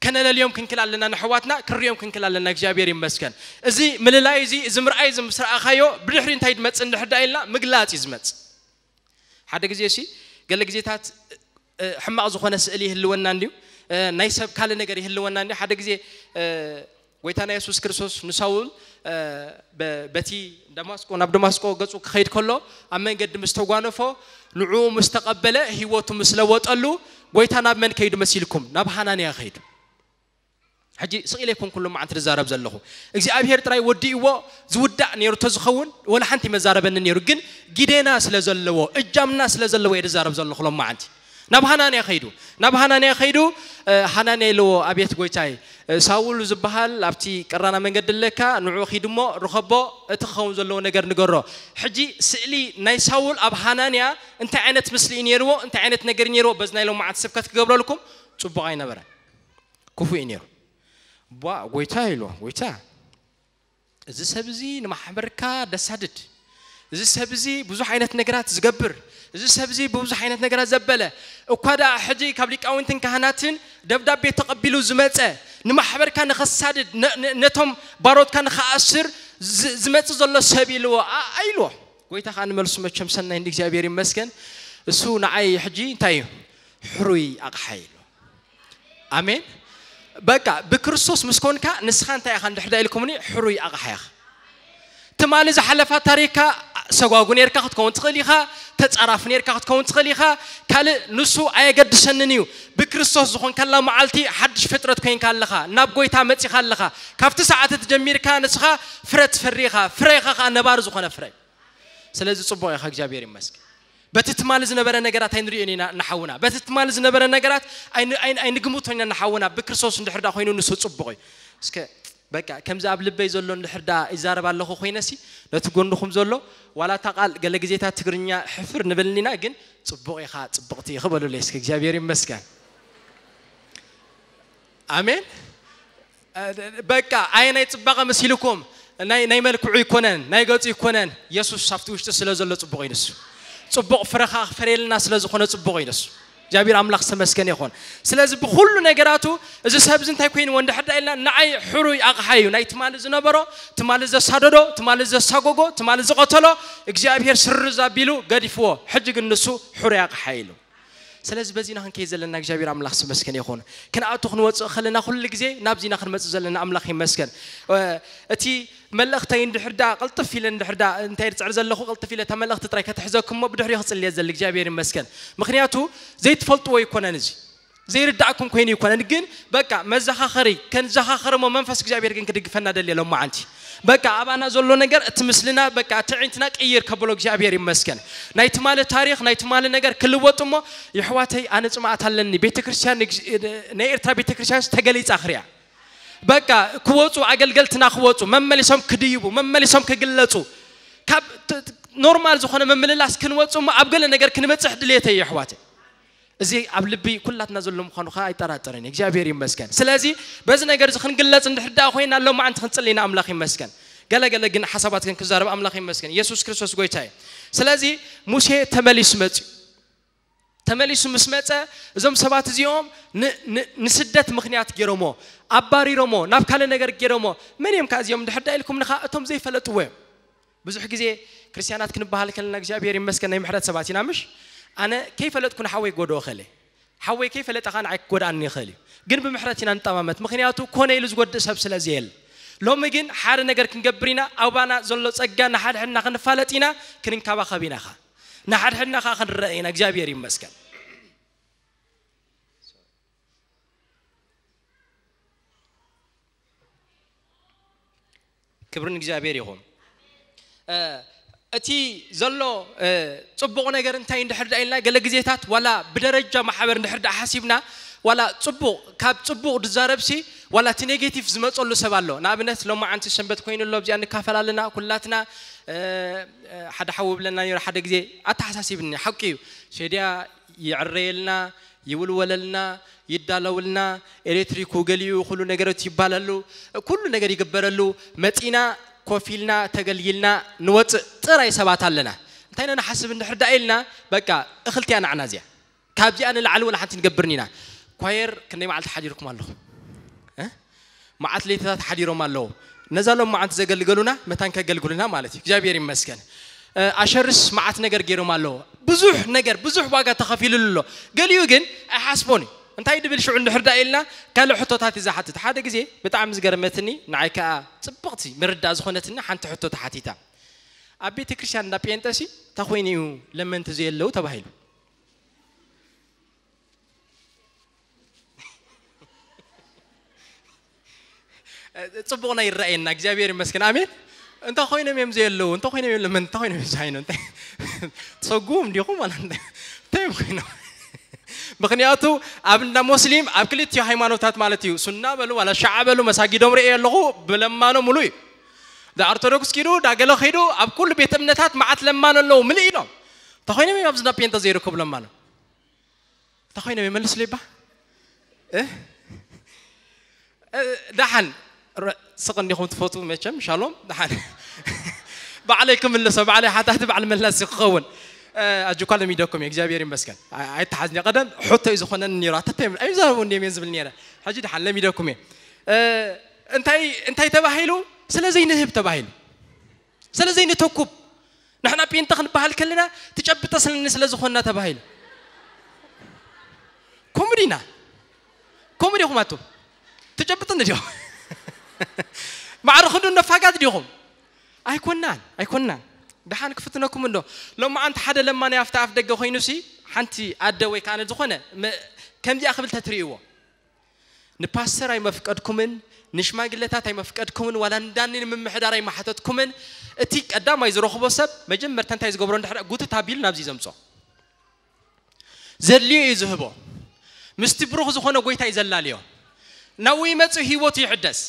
ከነለልዮም ክንክል ኣለና ንሕዋትና ክንሪኦም ክንክል ኣለና እግዚኣብሔር ይመስገን። እዚ ምልላይ እዚ እዚ ምርኣይ እዚ ምስ ረኣኻዮ ብድሕሪ እንታይ ድመፅእ እንድሕር ዳ ኢልና ምግላፅ እዩ ዝመፅእ። ሓደ ግዜ ሲ ገለ ግዜታት ሕማቕ ዝኾነ ስእሊ ይህልወና እንድዩ። ናይ ሰብ ካልእ ነገር ይህልወና እንድዩ ሓደ ግዜ ጎይታና የሱስ ክርስቶስ ንሳውል በቲ ደማስቆ ናብ ደማስቆ ገጹ ክኸይድ ከሎ ኣብ መንገዲ ምስ ተጓነፎ ንዕኡ ምስ ተቐበለ ህይወቱ ምስ ለወጠሉ ጎይታ ናብ መን ከይዱ መሲልኩም ናብ ሃናንያ ከይዱ። ሕጂ ስቕ ኢለ ኣይኮንኩን ሎማዓንቲ ዝዛረብ ዘለኹ እግዚኣብሄር ጥራይ ወዲእዎ ዝውዳእ ነይሩ ተዝኸውን ወላ ሓንቲ መዛረበኒ ነይሩ ግን ጊዴና ስለ ዘለዎ እጃምና ስለ ዘለዎ እየ ዝዛረብ ዘለኹ ሎማዓንቲ። ናብ ሃናንያ ኸይዱ ናብ ሃናንያ ኸይዱ፣ ሃናንያ ኢልዎ፣ ኣቤት ጎይታይ፣ ሳውል ዝበሃል ኣብቲ ቀራና መንገዲ ኣለካ፣ ንዑ ኺድ እሞ ርኸቦ፣ እቲ ክኸውን ዘለዎ ነገር ንገሮ። ሕጂ ስእሊ ናይ ሳውል ኣብ ሃናንያ እንታይ ዓይነት ምስሊ እዩ ነይርዎ፣ እንታይ ዓይነት ነገር እዩ ነይርዎ፣ በዚ ናይ ሎማዓንቲ ስብከት ክገብረልኩም ጽቡቕ ኣይነበረን። ክፉእ እዩ ነይሩ። ቧ ጎይታ ኢልዎ፣ ጎይታ፣ እዚ ሰብ እዚ ንማሕበርካ ደሳድድ፣ እዚ ሰብ እዚ ብዙሕ ዓይነት ነገራት ዝገብር፣ እዚ ሰብ እዚ ብብዙሕ ዓይነት ነገራት ዘበለ፣ እኳ ደኣ ሕጂ ካብ ሊቃውንትን ካህናትን ደብዳቤ ተቐቢሉ ዝመጸ፣ ንማሕበርካ ንኸሳድድ፣ ነቶም ባሮትካ ንኸኣስር ዝመጽእ ዘሎ ሰብ ኢልዎ። ኣይልዎ። ጎይታ ከዓ ንመልሱ መቸም ሰናይ እንዲ እግዚኣብሔር ይመስገን። እሱ ንዓይ ሕጂ እንታይ እዩ? ሕሩይ ኣቕሓ ኢሉ። ኣሜን። በቃ ብክርስቶስ ምስ ኮንካ ንስኻ እንታይ ኢኻ እንድሕር ዳ ኢልኩምኒ? ሕሩይ ኣቕሓ ኢኻ። ትማሊ ዝሓለፋ ታሪካ ሰጓጉ ነርካ ክትከውን ትኽእል ኢኻ፣ ተጻራፍ ነርካ ክትከውን ትኽእል ኢኻ። ካልእ ንሱ ኣየገድሰንን እዩ። ብክርስቶስ ዝኾንካላ መዓልቲ ሓድሽ ፍጥረት ኮይንካ ኣለኻ፣ ናብ ጎይታ መጺኻ ኣለኻ። ካብቲ ሰዓት እቲ ጀሚርካ ንስኻ ፍረ ትፈሪ ኢኻ። ፍረ ኢኻ ኸኣ ነባሪ ዝኾነ ፍረ። ስለዚ ጽቡቕ ኢኻ፣ እግዚኣብሔር ይመስገን። በቲ ትማሊ ዝነበረ ነገራት ኣይንርእዮን ኢና ንሓውና። በቲ ትማሊ ዝነበረ ነገራት ኣይን- ኣይን- ኣይንግምቶን ኢና ንሓውና። ብክርስቶስ እንድሕር ዳ ኮይኑ ንሱ ጽቡቕ እዩ። እስከ በቃ ከምዚ ኣብ ልበይ ዘሎ እንድሕር ዳ ይዛረብ ኣለኹ ኮይነሲ፣ ነቲ ጎንኹም ዘሎ ዋላ እታ ቃል ገለ ግዜታት ትግርኛ ሕፍር ንበልኒና፣ ግን ጽቡቕ ኢኻ ጽብቕቲ ኢኺ በሉለይ እስከ። እግዚኣብሔር ይመስገን። ኣሜን። በቃ ኣየ ናይ ጽባቐ መሲልኩም ናይ ናይ መልክዑ ይኮነን ናይ ገጹ ይኮነን። የሱስ ኣብቲ ውሽጢ ስለ ዘሎ ጽቡቕ እዩ ንሱ። ጽቡቕ ፍረኻ ክፈርየልና ስለ ዝኾነ ጽቡቕ እዩ ንሱ። እግዚኣብሔር ኣምላኽ ዝተመስገነ ይኹን። ስለዚ ብኹሉ ነገራቱ እዚ ሰብ እዚ እንታይ ኮይንዎ እንድሕር ዳ ኢልና፣ ንዓይ ሕሩይ ኣቕሓ እዩ። ናይ ትማሊ ዝነበሮ፣ ትማሊ ዘሳደዶ፣ ትማሊ ዘሳጎጎ፣ ትማሊ ዝቐተሎ እግዚኣብሔር ስርዝ ኣቢሉ ገዲፍዎ። ሕጂ ግን ንሱ ሕሩይ ኣቕሓ እዩ ኢሉ። ስለዚ በዚና ክንከይድ ዘለና እግዚኣብሔር ኣምላኽ ስመስገን ይኹን። ክንኣቱ ክንወፅእ ከለና ኩሉ ግዜ ናብዚና ክንመፅእ ዘለና ኣምላኽ ይመስገን። እቲ መልእኽተይ እንድሕር ዳ ቅልጥፍ ኢለ እንድሕር ዳ እንታይ ርፅዕር ዘለኹ ቅልጥፍ ኢለ እታ መልእኽቲ ጥራይ ከተሕዘኩም እሞ ብድሕሪኡ ክፅልየ ዘል እግዚኣብሔር ይመስገን። ምክንያቱ ዘይትፈልጥዎ ይኮነን እዚ ዘይርዳእኩም ኮይኑ ይኮነን፣ ግን በቃ መዘኻኸሪ ከንዘኻኸር እሞ መንፈስ እግዚኣብሔር ግን ክድግፈና ደልየ ሎም መዓንቲ በቃ ኣባና ዘሎ ነገር እቲ ምስልና በቃ እቲ ዒንትና ቅይር ከብሎ እግዚኣብሔር ይመስገን። ናይ ትማሊ ታሪኽ ናይ ትማሊ ነገር ክልወጥ እሞ የሕዋተይ ኣነ ጽማኣት ኣለኒ። ቤተክርስትያን ናይ ኤርትራ ቤተክርስትያን ተገሊጻ ክሪያ በቃ ክወጹ ኣገልገልትና ክወጹ መመሊሶም ክድይቡ መመሊሶም ክግለጹ ካብ ኖርማል ዝኾነ ምምልላስ ክንወጹ እሞ ኣብ ገለ ነገር ክንበጽሕ ድልየተይ የሕዋተይ። እዚ ኣብ ልቢ ኩላትና ዘሎ ምዃኑ ከዓ ኣይጠራጠርን። እግዚኣብሔር ይመስገን። ስለዚ በዚ ነገር እዚ ክንግለጽ እንድሕር ደኣ ኮይና ሎማዓንቲ ክንጽሊ ኢና። ኣምላኽ ይመስገን። ገለ ገለ ግን ሓሳባት ግን ክዛረብ ኣምላኽ ይመስገን። የሱስ ክርስቶስ ጎይታ እዩ። ስለዚ ሙሴ ተመሊሱ መጽዩ። ተመሊሱ ምስ መጸ እዞም ሰባት እዚኦም ን- ን- ንስደት ምኽንያት ገይሮሞ ኣባሪሮሞ ናብ ካልእ ነገር ገይሮሞ መን እዮም ከ እዚኦም እንድሕር ደኣ ኢልኩም ንኻ እቶም ዘይፈለጥዎ እዮም። ብዙሕ ግዜ ክርስትያናት ክንበሃል ከለና እግዚኣብሔር ይመስገን ናይ ምሕረት ሰባት ኢና ምሽ? ኣነ ከይፈለጥኩ ንሓወይ ክጎድኦ እኽእል እየ። ሓወይ ከይፈለጠ ኸዓ ንዓይ ክጎድኣኒ ይኽእል እዩ። ግን ብምሕረት ኢና ንጠማመት። ምኽንያቱ ኮነ ኢሉ ዝጎድእ ሰብ ስለ ዘየለ። ሎሚ ግን ሓደ ነገር ክንገብር ኢና። ኣባና ዘሎ ጸጋ ንሓድሕድና ክንፋለጥ ኢና፣ ክንንከባኸብ ኢና ኸዓ። ንሓድሕድና ኸዓ ክንረአ ኢና። እግዚኣብሔር ይመስገን። ክብሪ ንእግዚኣብሔር ይኹን። እቲ ዘሎ ጽቡቕ ነገር እንታይ እንድሕር ደኣ ኢልና ገለ ግዜታት ዋላ ብደረጃ ማሕበር እንድሕር ደኣ ሓሲብና ዋላ ጽቡቕ ካብ ጽቡቕ ድዛረብሲ ዋላ እቲ ኔጌቲቭ ዝመጸሉ ሰብ ኣሎ። ንኣብነት ሎማዓንቲ ሰንበት ኮይኑ ኣሎ ኣብዚኣ ንካፈል ኣለና ኩላትና። ሓደ ሓዊ ብለና ነይሩ ሓደ ግዜ ኣተሓሳሲብኒ ሓቂ እዩ። ሴድያ ይዕረየልና ይውልወለልና ይዳለውልና፣ ኤሌክትሪኩ ገሊኡ ኩሉ ነገሮት ይባለሉ፣ ኩሉ ነገር ይግበረሉ። መጺና ኮፍ ኢልና ተገልጊልና ንወጽእ ጥራይ ሰባት ኣለና። እንታይ ኢና ንሓስብ እንድሕር ደኣ ኢልና በቃ እኽልቲያ ናዕና እዚኣ ካብዚኣ ንላዕሊ ወላ ሓንቲ ንገብርን ኢና። ኳየር ክንደይ መዓልቲ ሓዲርኩም ኣለኹም? እ? መዓት ለይትታት ሓዲሮም ኣለዉ። ነዛ ሎም መዓት ዘገልገሉና መታን ከገልግሉና ማለት እዩ። እግዚኣብሔር ይመስገን። ኣሸርስ መዓት ነገር ገይሮም ኣለዉ። ብዙሕ ነገር ብዙሕ ዋጋ ተኸፊሉሉ ኣሎ። ገሊኡ ግን ኣይሓስቦን እዩ። እንታይ ድብል ሽዑ እንድሕር ዳ ኢልና ካልእ ሕቶታት እዩ ዝሓትት። ሓደ ግዜ ብጣዕሚ ዝገርመትኒ ንዓይ ከዓ ፅብቕቲ ምርዳእ ዝኾነትኒ ሓንቲ ሕቶ ተሓቲታ። ኣብ ቤተ ክርስቲያን እንዳ ጴንጠሲ እንታይ ኮይኑ እዩ ለመንቲ ዘየለዉ ተባሂሉ። ጽቡቕና ይረኣየና እግዚኣብሔር ይመስገን ኣሜን። እንታይ ኮይኖም እዮም ዘየለዉ እንታይ ኮይኖም እዮም ለመን እንታይ ኮይኖም እዮም ዝሃይኑ እንታይ ተሰጉም እንዲኹም ማለት እንታይ እንታይ እዮም ኮይኖም ምኽንያቱ ኣብ እንዳ ሙስሊም ኣብ ክልቲኡ ሃይማኖታት ማለት እዩ፣ ሱና በሉ ዋላ ሻዓ በሉ፣ መሳጊዶም ርእየ ኣለኹ፣ ብለማኖ ሙሉ እዩ። ዳ ኦርቶዶክስ ኪዱ፣ ዳ ገለ ኺዱ፣ ኣብ ኩሉ ቤት እምነታት መዓት ለማኖ ኣለዉ፣ ምልእ ኢሎም። ተኾይኖም እዮም ኣብዚ እንዳ ፔንተ ዘይርከቡ ለማኖ። ተኾይኖም ይመልስሉ ይባ። እ? እ፣ ደሓን ረ-፣ ስቕ እንዲኹም ትፈቱ መቸም፣ ሻሎም፣ ደሓን። ባዕለይ ክምልሶ፣ ባዕለይ ሓታቲ፣ ባዕል መላሲ ክኸውን። እ፣ ኣጆኳ ለሚደኩም እየ፣ እግዚኣብሔር ይመስገን። ኣይ-፣ ኣይተሓዝኒ። ቀደም ሕቶ እዩ ዝኾነኒ ነይሩ፣ ኣተተ እዮም፣ ኣይዛረቡ እንዲዮም እዮም ዝብል ነይረ። ሕጂ ደሓን ለሚደኩም እየ። እ፣ እንታይ፣ እንታይ ተባሂሉ? ስለ ዘይንህብ ተባሂሉ። ስለ ዘይንተኩብ። ንሕና ጴንጠ ክንበሃል ከለና ትጨብጠ ስለኒ ስለ ዝኾንና ተባሂሉ። ኮሙዲና። ኮሙዲ ኢኹም ኣቱም። ትጨብጥኒ ዲኹም? ማዕረ ክንዱ ነፋጋት ዲኹም? ኣይኮናን፣ ኣይኮናን። ደሓን ክፍትነኩም እንዶ። ሎማዓንቲ ሓደ ለማኒ ኣብቲ ኣፍ ደገ ኮይኑሲ፣ ሓንቲ ኣደ ወይ ከኣ ዝኾነ መ-፣ ከምዚኣ ክብል ተትርእይዎ። ንፓስተር ኣይመፍቀድኩምን፣ ንሽማግለታት ኣይመፍቀድኩምን፣ ዋላ እንዳኒ ንምምሕዳር ኣይመሓተትኩምን። እቲ ቀዳማይ ዝረኽቦ ሰብ መጀመርታ እንታይ ዝገብሮ እንድሕር ጉትት ኣቢሉ ናብዚ ዘምጾ። ዘድልዮ እዩ ዝህቦ። ምስቲ ብሩኽ ዝኾነ ጎይታ እዩ ዘላልዮ። ናብኡ ይመጽእ ህይወቱ ይሕደስ።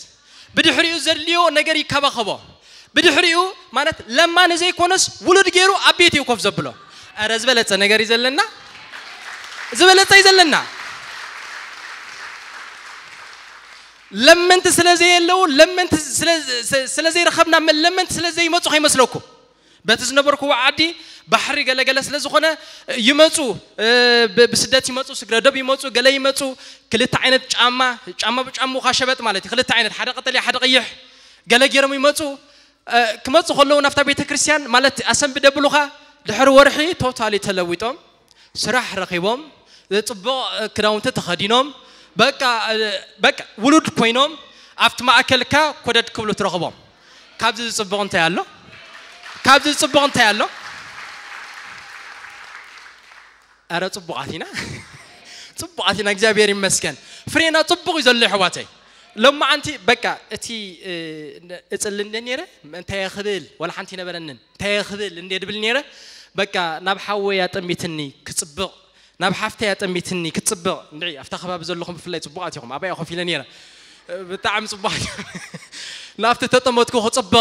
ብድሕሪኡ ዘድልዮ ነገር ይከባኸቦ። ብድሕሪኡ ማለት ለማኒ ዘይኮነስ ውሉድ ገይሩ ኣብ ቤት እዩ ኮፍ ዘብሎ። ኧረ ዝበለጸ ነገር እዩ ዘለና። ዝበለጸ እዩ ዘለና። ለመንቲ ስለ ዘየለዉ፣ ለመንቲ ስለ፣ ስለ፣ ስለ ዘይረኸብና፣ ለመንቲ ስለ ዘይመጹ ከይመስለኩም። በቲ ዝነበርኩዎ ዓዲ ባሕሪ ገለገለ ስለ ዝኾነ ይመጹ፣ እ፣ ብ-፣ ብስደት ይመጹ፣ ስግረ ዶብ ይመጹ፣ ገለ ይመጹ። ክልተ ዓይነት ጫማ፣ ጫማ ብጫምኡ ኸዓ ሸበጥ ማለት እዩ። ክልተ ዓይነት፣ ሓደ ቀጠልያ፣ ሓደ ቀይሕ፣ ገለ ገይሮም ይመጹ። እ፣ ክመጹ ከለዉ ናብታ ቤተ ክርስቲያን ማለት ኣሰንብደ ብሉኻ ድሕሪ ወርሒ ቶታሊ ተለዊጦም፣ ስራሕ ረኺቦም፣ ጽቡቕ ክዳውንቲ ተኸዲኖም፣ በቃ፣ በቃ ውሉድ ኮይኖም ኣብቲ ማእከልካ ኮደድ ክብሉ ትረኽቦም። ካብዚ ዝጽቡቕ እንታይ ኣሎ? ካብዚ ዝጽቡቕ እንታይ ኣሎ? ኣረ ጽቡቓት ኢና። ጽቡቓት ኢና፣ እግዚኣብሔር ይመስገን። ፍሬና ጽቡቕ እዩ ዘሎ፣ ኣሕዋተይ። ሎማዓንቲ በቃ እቲ፣ እ፣ እጽሊ እንደ ነይረ፣ እንታይ እየ ክብል፣ ዋላ ሓንቲ ኣይነበረንን። እንታይ እየ ክብል እንደ ድብል ነይረ፣ በቃ ናብ ሓወይ ኣጠሚትኒ ክጽብቕ፣ ናብ ሓፍተይ ኣጠሚትኒ ክጽብቕ። እንድዒ ኣብታ ከባቢ ዘለኹም ብፍላይ ጽቡቓት ኢኹም፣ ኣባይ ኮፍ ኢለ ነይረ። ብጣዕሚ ጽቡቓት ኢኹም። ናብቲ ተጠመትኩ ክጽብቕ፣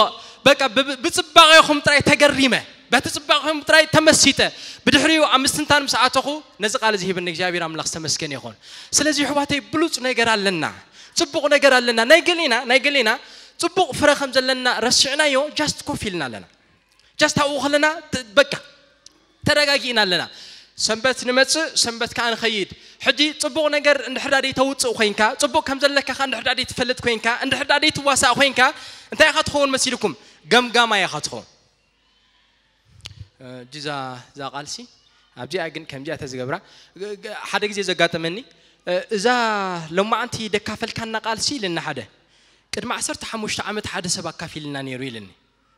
በቃ ብ-፣ ብጽባቐኹም ጥራይ ተገሪመ፣ በቲ ጽባቐኹም ጥራይ ተመሲጠ። ብድሕሪኡ ኣብ ምስትንታን ምስ ኣተኹ፣ ነዚ ቃል እዚ ሂብኒ እግዚኣብሔር ኣምላኽ ዝተመስገነ ይኹን። ስለዚ ኣሕዋተይ ብሉጽ ነገር ኣለና፣ ጽቡቕ ነገር ኣለና። ናይ ገሌና፣ ናይ ገሌና ጽቡቕ ፍረ ከም ዘለና ረሲዕናዮ፣ ጃስት ኮፍ ኢልና ኣለና። ጃስት ኣብኡ ከለና ተ-፣ በቃ ተረጋጊእና ኣለና። ሰንበት ንመጽእ፣ ሰንበት ከኣ ንኸይድ። ሕጂ ጽቡቕ ነገር እንድሕር ዳኣ ተውጽእ ኮይንካ፣ ጽቡቕ ከም ዘለካ ከኣ እንድሕር ዳኣ ትፈልጥ ኮይንካ፣ እንድሕር ዳኣ ትዋሳእ ኮይንካ፣ እንታይ ኢኻ ትኸውን መሲልኩም? ገምጋማይ ኢኻ ትኸውን። እ፣ እዛ፣ እዛ ቃልሲ ኣብዚኣ ግን ከምዚኣ ተዝገብራ፣ ግ-፣ ግ-፣ ሓደ ግዜ ዘጋጠመኒ፣ እ፣ እዛ ሎማዓንቲ ደካፈልካና ቃልሲ ኢልና ሓደ፣ ቅድሚ ዓሰርተ ሓሙሽተ ዓመት ሓደ ሰብ ኣካፊልና ነይሩ ኢልኒ።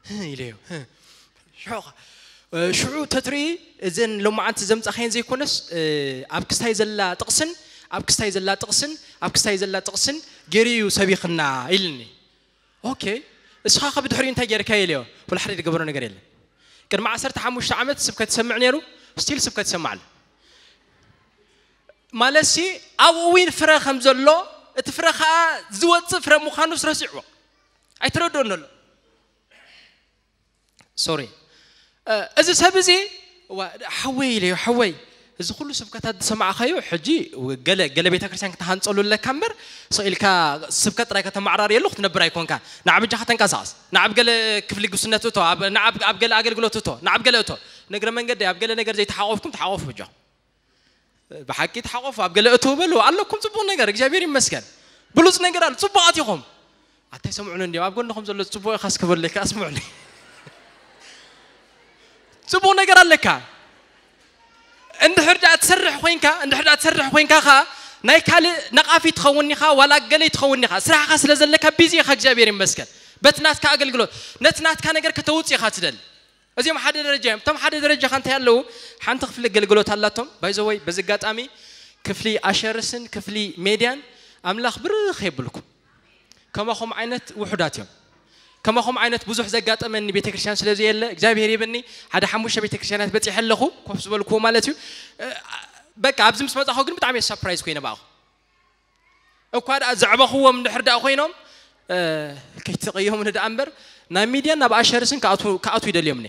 "ህህ" ኢለዮ። "ህህ። ሽዑ ኸ-?" እ፣ ሽዑ ተትርኢ እዘን ሎማዓንቲ ዘምጻኻየን ዘይኮነስ፣ እ፣ ኣብ ክስታይ ዘላ ጥቕስን፣ ኣብ ክስታይ ዘላ ጥቕስን፣ ኣብ ክስታይ ዘላ ጥቕስን ገይሩ እዩ ሰቢኽና ኢልኒ። ኦኬ፣ እስኻ ከ ብድሕሪኡ እንታይ ጌርካ ኢለዮ። ወላ ሓደ ዝገበሮ ነገር የለን። ቅድሚ ዓሰርተ ሓሙሽተ ዓመት ስብከት ይሰምዕ ነይሩ፣ ስቲል ስብከት ይሰምዕ ኣሎ። ማለትሲ ኣብኡ እውን ፍረ ከም ዘሎ፣ እቲ ፍረ ኸኣ ዝወጽእ ፍረ ምዃኑስ ረሲዕዎ። ኣይተረድኦን ዘሎ። ሶሪ። እ፣ እዚ ሰብ እዚ፣ ዋ፣ ሓወይ ኢለዮ፣ ሓወይ፣ እዚ ኩሉ ስብከታት ዝሰማዕካዮ፣ ሕጂ ገለ፣ ገለ ቤተ ክርስቲያን ክትሃንጸሉ ኣለካ እምበር፣ ስቕ ኢልካ ስብከት ጥራይ ከተመዓራርየሉ ክትነብር ኣይኮንካን። ንዓ በጃኻ ተንቀሳቐስ። ንዓ ኣብ ገለ ክፍሊ ጉስነት እቶ፣ ኣብ፣ ንዓ ኣብ፣ ኣብ ገለ ኣገልግሎት እቶ፣ ንዓ ኣብ ገለ እቶ። ንእግረ መንገዲ ኣብ ገለ ነገር ዘይተሓቆፍኩም ተሓቆፉ በጃኹም። ብሓቂ ተሓቆፉ፣ ኣብ ገለ እቶ በሉ። ኣለኩም ጽቡቕ ነገር፣ እግዚኣብሔር ይመስገን። ብሉጽ ነገር ኣሎ፣ ጽቡቓት ኢኹም። ኣታይ ሰምዑኒ እንዲዮም፣ ኣብ ጎንኹም ዘሎ ጽቡቕ ኢኻ እስኪ በሉለይ፣ ከኣ ስምዑኒ። ጽቡቕ ነገር ኣለካ። እንድሕር ደኣ ትሰርሕ ኮይንካ፣ እንድሕር ደኣ ትሰርሕ ኮይንካ ኸኣ ናይ ካልእ ነቓፊ ትኸውን ኢኻ፣ ዋላ ገለይ ትኸውን ኢኻ። ስራሕኻ ስለ ዘለካ ቢዚ ኢኻ፣ እግዚኣብሔር ይመስገን። በቲ ናትካ ኣገልግሎት፣ ነቲ ናትካ ነገር ከተውጽእ ኢኻ ትደሊ። እዚኦም ሓደ ደረጃ እዮም። እቶም ሓደ ደረጃ ከ እንታይ ኣለዉ? ሓንቲ ክፍሊ ኣገልግሎት ኣላቶም። ባይ ዘ ወይ፣ በዚ ኣጋጣሚ ክፍሊ ኣሸርስን ክፍሊ ሜድያን ኣምላኽ ብርኽ የብልኩም። ከማኹም ዓይነት ውሑዳት እዮም። ከማኹም ዓይነት ብዙሕ ዘጋጠመኒ ቤተክርስትያን ስለ ዘየለ፣ እግዚኣብሔር ይብኒ፣ ሓደ ሓሙሽተ ቤተክርስትያናት በጺሐ ኣለኹ፣ ኮፍ ዝበልኩዎ ማለት እዩ። እ፣ በቃ ኣብዚ ምስ መጻኹ ግን ብጣዕሚ surprise ኮይነ ብኣኹ። እኳ ደኣ ዘዕበኽዎም እንድሕር ደኣ ኮይኖም ከይተቐየሙኒ ደኣ እምበር ናብ ሚድያን ናብ ኣሸርስን ክኣትዉ ይደልዮም።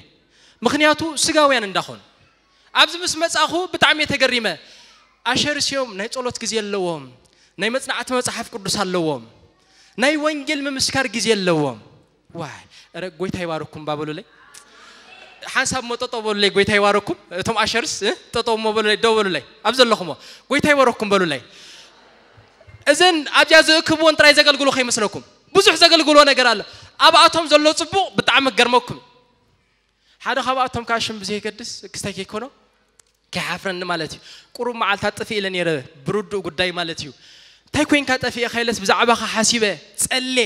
ምክንያቱ ስጋውያን እንዳኾኑ ኣብዚ ምስ መጻኹ ብጣዕሚ እየ ተገሪመ። ኣሸርስ እዮም፣ ናይ ጸሎት ግዜ ኣለዎም፣ ናይ መጽናዕቲ መጽሓፍ ቅዱስ ኣለዎም፣ ናይ ወንጌል ምምስካር ግዜ ኣለዎም። ዋይ፣ ረ ጎይታ ይባርኩም ባበሉለይ። ሓንሳብ ሞ ጠጠው በሉለይ፣ ጎይታ ይባርኩም። እቶም ኣሸርስ ጠጠው ሞ በሉለይ፣ ደው በሉለይ፣ ኣብ ዘለኹሞ ጎይታ ይባርኩም በሉለይ። እዘን ኣብዚኣ ዝእክብዎን ጥራይ ዘገልግሎ ከይመስለኩም፣ ብዙሕ ዘገልግሎ ነገር ኣሎ። ኣብኣቶም ዘሎ ጽቡቕ ብጣዕሚ ክገርመኩም። ሓደ ካብኣቶም ከዓ ሽም ብዘይገድስ ክስታይ ከይኮኖ ከይሓፍረኒ ማለት እዩ። ቁሩብ መዓልታት ጥፊእ ኢለ ነይረ፣ ብርዱእ ጉዳይ ማለት እዩ። እንታይ ኮይንካ ጠፊእካ ኢለስ ብዛዕባኻ ሓሲበ ጸሌ።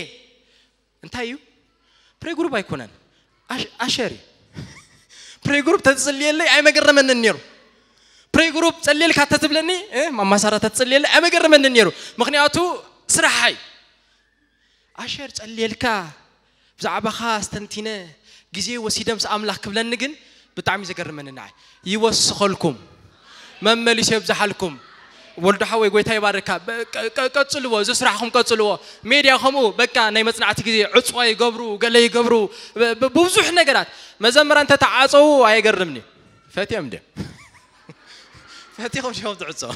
እንታይ እዩ? ፕሬ ግሩፕ ኣይኮነን፣ ኣሸር እዩ። ፕሬ ግሩፕ ተትጽልየለይ ኣይመገረመንን ነይሩ። ፕሬ ግሩፕ ጸልየልካ ተትብለኒ፣ ማማሳራ ተትጽልየለይ ኣይመገረመንን ነይሩ። ምክንያቱ ስራሓይ ኣሸር ጸልየልካ ብዛዕባኻ ኣስተንቲነ ግዜ ወሲደ ምስ ኣምላኽ ክብለኒ ግን ብጣዕሚ ዘገርመኒ ንዓይ። ይወስኸልኩም፣ መመሊሱ የብዝሓልኩም። ወልዶ ሓወይ ጎይታ ይባርካ። ቀጽልዎ፣ እዚ ስራሕኩም ቀጽልዎ። ሜድያ ከምኡ በቃ ናይ መጽናዕቲ ግዜ ዕፅዋ ይገብሩ፣ ገለ ይገብሩ፣ ብብዙሕ ነገራት መዘምራን ተተዓፀዉ ኣየገርምኒ። ፈትዮም ድዮም? ፈቲኹም ዲኹም ትዕጸው?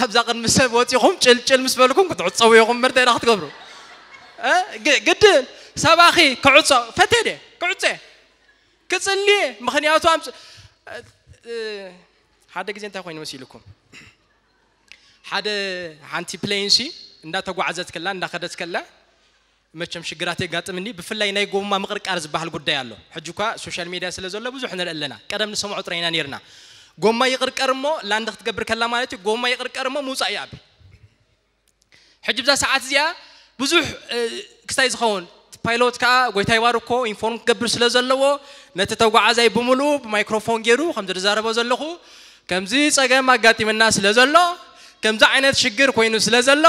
ኣብዛ ቅድሚ ሰብ ወጺኹም ጭልጭል ምስ በልኩም ክትዕጸው ኢኹም። ምርተይ ዳ ክትገብሩ? ግድን ሰባኺ ክዕጾ ፈቴ ደ ክዕጸ ክጽሊ። ምኽንያቱ ሓደ ግዜ እንታይ ኮይኑ መሲልኩም? ሓደ ሓንቲ ፕሌን ሲ እንዳተጓዓዘት ከላ እንዳኸደት ከላ መቸም ሽግራት የጋጥምኒ። ብፍላይ ናይ ጎማ ምቕርቃር ዝበሃል ጉዳይ ኣሎ። ሕጂ እኳ ሶሻል ሜድያ ስለ ዘሎ ብዙሕ ንርኢ ኣለና። ቀደም ንሰምዖ ጥራይ ኢና ነይርና። ጎማ ይቕርቀር እሞ ላንድ ክትገብር ከላ ማለት እዩ። ጎማ ይቕርቀር እሞ ምውፃእ ይኣቢ። ሕጂ ብዛ ሰዓት እዚኣ ብዙሕ ክስታይ ዝኸውን ፓይሎት ከዓ ጎይታ ይባርኮ ኢንፎርም ክገብር ስለ ዘለዎ ነቲ ተጓዓዛይ ብምሉኡ ብማይክሮፎን ገይሩ ከምዚ ዝዛረቦ ዘለኹ ከምዚ ፀገም ኣጋጢምና ስለ ዘሎ ከምዚ ዓይነት ሽግር ኮይኑ ስለ ዘሎ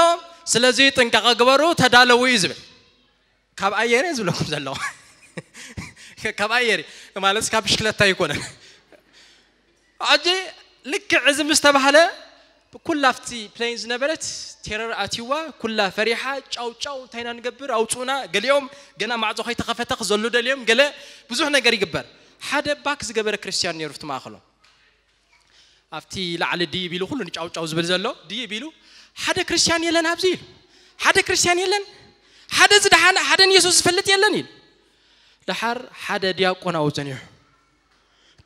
ስለዚ ጥንቃቐ ግበሩ ተዳለዉ እዩ ዝብል። ካብ ኣየር እየ ዝብለኩም ዘለኹ። ካብ ኣየር ማለት ካብ ብሽክለታ ኣይኮነን። ሕጂ ልክዕ እዚ ምስ ተባህለ ኩላ ኣብቲ ፕሌን ዝነበረት ቴረር ኣትይዋ ኩላ ፈሪሓ ጫው ጫው እንታይ ኢና ንገብር ኣውፁና ገሊኦም ገና ማዕፆ ከይተኸፈተ ክዘሉ ደልዮም ገለ ብዙሕ ነገር ይግበር። ሓደ ባክ ዝገበረ ክርስቲያን ነይሩ ኣብቲ ማእኸሎም። ኣብቲ ላዕሊ ድይብ ኢሉ ኩሉ ንጫውጫው ዝብል ዘሎ ድይብ ኢሉ ሓደ ክርስቲያን የለን ኣብዚ ኢሉ ሓደ ክርስቲያን የለን ሓደ ዝደሓነ ሓደ ንየሱስ ዝፈልጥ የለን ኢሉ። ደሓር ሓደ ዲያቆን ኣብኡ ጸኒሑ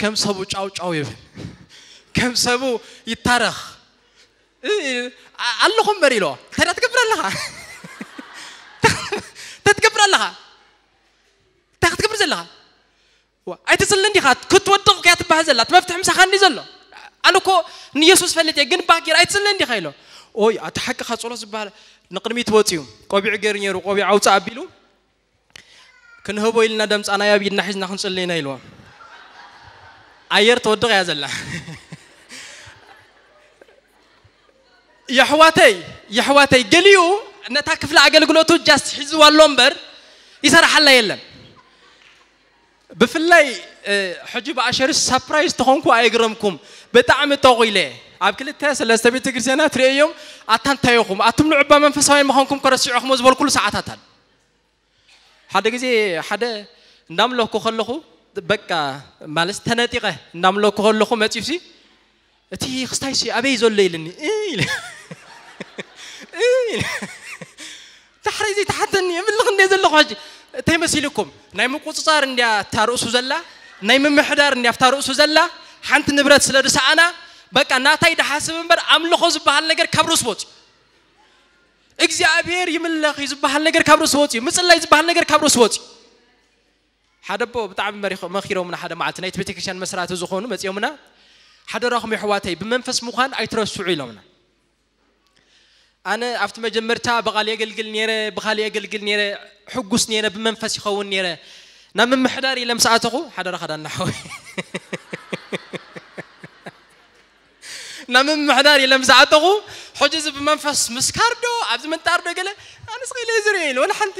ከም ሰቡ ጫውጫው ይብል ከም ሰቡ ይታረኽ ኣለኹ እምበር ኢሎ እንታይ ትገብር ኣለኻ? እንታይ ትገብር ኣለኻ? እንታይ ክትገብር ዘለኻ? ኣይትጽልን ዲኻ ክትወድቕ እያ ትበሃል ዘላ እቲ መፍትሒ ምሳኻ እንዲ ዘሎ ኣነ እኮ ንየሱስ ፈልጥ እየ ግን ባጌር ኣይትጽልን ዲኻ ኢሎ ኦይ ኣቲ ሓቅኻ ጸሎት ዝበሃል ንቕድሚት ወጽዩ ቆቢዕ ገይሩ ነይሩ ቆቢዕ ኣውፅእ ኣቢሉ ክንህቦ ኢልና ደምፃና ኣብ ኢድና ሒዝና ክንጽሊ ኢና ኢልዎ ኣየር ትወድቕ እያ ዘላ የሕዋተይ የሕዋተይ ገሊኡ ነታ ክፍሊ ኣገልግሎቱ ጃስት ሒዝዋ ኣሎ እምበር ይሰራሓላ የለን ብፍላይ ሕጂ ብኣሸርስ ሳፕራይዝ ተኾንኩ ኣይግረምኩም ብጣዕሚ ጠቑ ኢለ ኣብ ክልተ ሰለስተ ቤተ ክርስቲያናት ርእዮም ኣታ እንታይ ኢኹም ኣቱም ንዑባ መንፈሳውያን ምዃንኩም ከረሲዑኹም ዝበልኩሉ ሰዓታት ኣሎ ሓደ ግዜ ሓደ እንዳምለኩ ከለኹ በቃ ማለት ተነጢቐ እንዳምለኩ ከለኹ መፂኡሲ እቲ ክስታይሲ ኣበይ ዘሎ ኢልኒ ዳሕረይ ዘይተሓተኒ የምልኽ እንደ ዘለኹ ሕጂ እንታይ መሲልኩም ናይ ምቁፅፃር እንዲያ እታ ርእሱ ዘላ ናይ ምምሕዳር እንዲያ ፍታ ርእሱ ዘላ ሓንቲ ንብረት ስለ ዝሰኣና በቃ ናታይ ድሓስብ እምበር ኣምልኾ ዝበሃል ነገር ካብ ርእሱ ወፂ እግዚኣብሔር ይምለኽ እዩ ዝበሃል ነገር ካብ ርእሱ ወፂ ምፅላይ ዝበሃል ነገር ካብ ርእሱ ወፂ ሓደ ኣቦ ብጣዕሚ መሪኾ- መኺሮምና ሓደ መዓልቲ ናይቲ ቤተክርስትያን መስራቲ ዝኾኑ መፂኦምና ሓደራኹም የሕዋተይ ብመንፈስ ምዃን ኣይትረስዑ ኢሎምና ኣነ ኣብቲ መጀመርታ ብቓል የገልግል ነይረ ብኻልእ የገልግል ነይረ ሕጉስ ነይረ ብመንፈስ ይኸውን ነይረ ናብ ምምሕዳር ኢለ ምስ ኣተኹ ሓደራኻ ዳና ሓወይ ናብ ምምሕዳር ኢለ ምስ ኣተኹ ሕጂ እዚ ብመንፈስ ምስካር ዶ ኣብዚ ምንጣር ዶ ገለ ኣነስ ኸኢለ ዝርኢ ኢለ ወላ ሓንቲ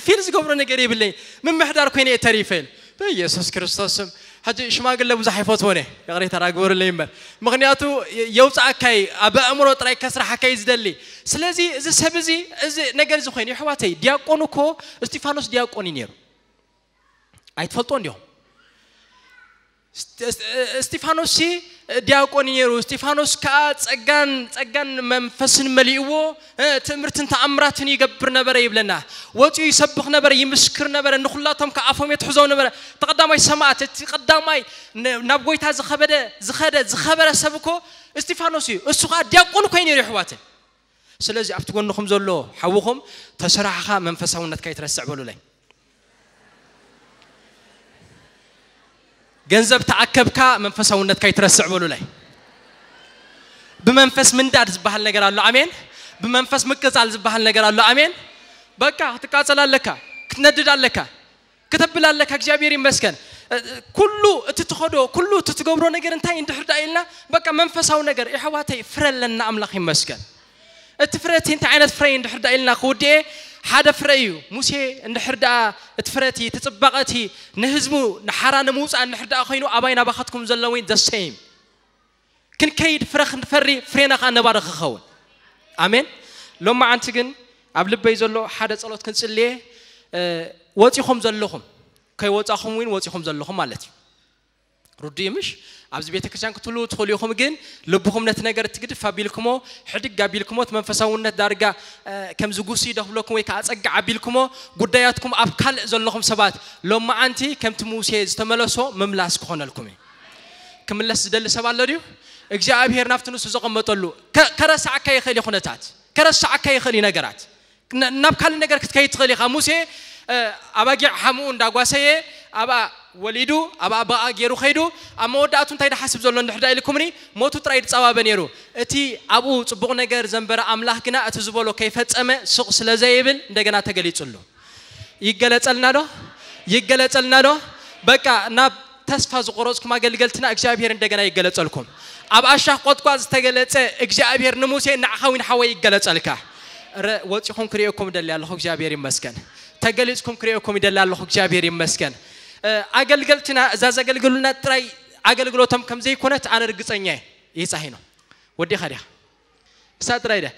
ፊል ዝገብሮ ነገር የብለይ ምምሕዳር ኮይነ እየ ተሪፈ ኢለ በኢየሱስ ክርስቶስ ስም። ሕጂ ሽማግለ ብዙሕ ኣይፈትዎን እየ፣ ይቕሬታ ዳግበሩለይ እምበር፣ ምኽንያቱ የውፃእካይ፣ ኣብ ኣእምሮ ጥራይ ከስራሓካይ ዝደሊ። ስለዚ እዚ ሰብ እዚ፣ እዚ ነገር እዚ ኮይኑ፣ ይሕዋተይ፣ ዲያቆን እኮ፣ እስጢፋኖስ ዲያቆን እዩ ነይሩ። ኣይትፈልጦ እንዲኹም? እስጢፋኖስ ሲ ዲያቆን እዩ ነይሩ። እስጢፋኖስ ከዓ ጸጋን ጸጋን መንፈስን መሊእዎ፣ ትእምርትን ተኣምራትን ይገብር ነበረ ይብለና። ወፂኡ ይሰብኽ ነበረ፣ ይምስክር ነበረ፣ ንኹላቶም ከዓ ኣፎም የትሕዞም ነበረ። እቲ ቀዳማይ ሰማዕት፣ እቲ ቀዳማይ ናብ ጎይታ ዝኸበደ ዝኸደ ዝኸበረ ሰብ እኮ እስጢፋኖስ እዩ። እሱ ከዓ ዲያቆን እኮ እዩ ነይሩ ይሕዋትን። ስለዚ ኣብቲ ጎንኹም ዘሎ ሓውኹም ተሰራሕኻ መንፈሳውነትካ ይትረስዕ በሉለይ። ገንዘብ ተኣከብካ መንፈሳውነትካ ይትረስዕ በሉለይ። ብመንፈስ ምንዳድ ዝበሃል ነገር ኣሎ። ኣሜን። ብመንፈስ ምቅጻል ዝበሃል ነገር ኣሎ። ኣሜን። በቃ ክትቃጸል ኣለካ፣ ክትነድድ ኣለካ፣ ክተብል ኣለካ። እግዚኣብሔር ይመስገን። ኩሉ እቲ ትኸዶ፣ ኩሉ እቲ ትገብሮ ነገር እንታይ እንድሕር ደኣ ኢልና፣ በቃ መንፈሳዊ ነገር የሕዋተይ ፍረ ኣለና። ኣምላኽ ይመስገን። እቲ ፍረ እቲ እንታይ ዓይነት ፍረ እዩ እንድሕር ደኣ ኢልና ክውድኤ፣ ሓደ ፍረ እዩ። ሙሴ እንድሕር ደኣ እቲ ፍረ እቲ፣ እቲ ጽባቐ እቲ ንህዝቡ ንሓራ ንምውጻእ እንድሕር ደኣ ኮይኑ፣ ኣባይ ናባኻትኩም ዘለዊ the same። ክንከይድ ፍረ ክንፈሪ፣ ፍሬና ከዓ ነባሪ ክኸውን። ኣሜን። ሎማዓንቲ ግን ኣብ ልበይ ዘሎ ሓደ ጸሎት ክንጽልየ፣ ወጺኹም ዘለኹም፣ ከይወጻኹም እውን ወጺኹም ዘለኹም ማለት እዩ። ርዱእ ምሽ? ኣብዚ ቤተ ክርስቲያን ክትህልዉ ትኽእሉ ኢኹም፣ ግን ልብኹም ነቲ ነገር ትግድፍ ኣቢልኩሞ፣ ሕድግ ኣቢልኩሞ፣ እቲ መንፈሳውነት ዳርጋ ከምዚ ጉሲ ደኽብለኩም ወይ ከዓ ጸግዕ ኣቢልኩሞ፣ ጉዳያትኩም ኣብ ካልእ ዘለኹም ሰባት ሎማዓንቲ ከምቲ ሙሴ ዝተመለሶ ምምላስ ክኾነልኩም እዩ። ክምለስ ዝደሊ ሰብ ኣሎ ድዩ? እግዚኣብሔር ናብቲ ንሱ ዘቐመጠሉ ከ- ከረስዓካ ይኽእል እዩ። ኩነታት ከረስዓካ ይኽእል እዩ። ነገራት ናብ ካልእ ነገር ክትከይድ ትኽእል ኢኻ። ሙሴ ኣባጊዕ ሓምኡ እንዳጓሰየ ኣብኣ ወሊዱ ኣብኣ ብኣ ገይሩ ከይዱ፣ ኣብ መወዳእቱ እንታይ ድሓስብ ዘሎ እንድሕር ዳ ኢልኩምኒ፣ ሞቱ ጥራይ ድጸባበ ነይሩ። እቲ ኣብኡ ጽቡቕ ነገር ዘንበረ ኣምላኽ ግና እቲ ዝበሎ ከይፈጸመ ስቕ ስለ ዘይብል እንደገና ተገሊጹሉ። ይገለጸልና ዶ? ይገለጸልና ዶ? በቃ ናብ ተስፋ ዝቆረጽኩም ኣገልገልትና እግዚኣብሔር እንደገና ይገለጸልኩም። ኣብ ኣሻኽ ቆጥቋጥ ዝተገለጸ እግዚኣብሔር ንሙሴ ንዓኻ ውን ሓወይ ይገለጸልካ። ረ ወጺኹም ክርእየኩም ይደሊ ኣለኹ፣ እግዚኣብሔር ይመስገን። ተገሊጽኩም ክርእየኩም ይደሊ ኣለኹ፣ እግዚኣብሔር ይመስገን። ኣገልገልትና እዛ ዘገልግሉና ጥራይ ኣገልግሎቶም ከም ዘይኮነት ኣነ ርግጸኛ እየ። ይጻሂኖ ወዲኻ ዲኻ? እሳ ጥራይ ደ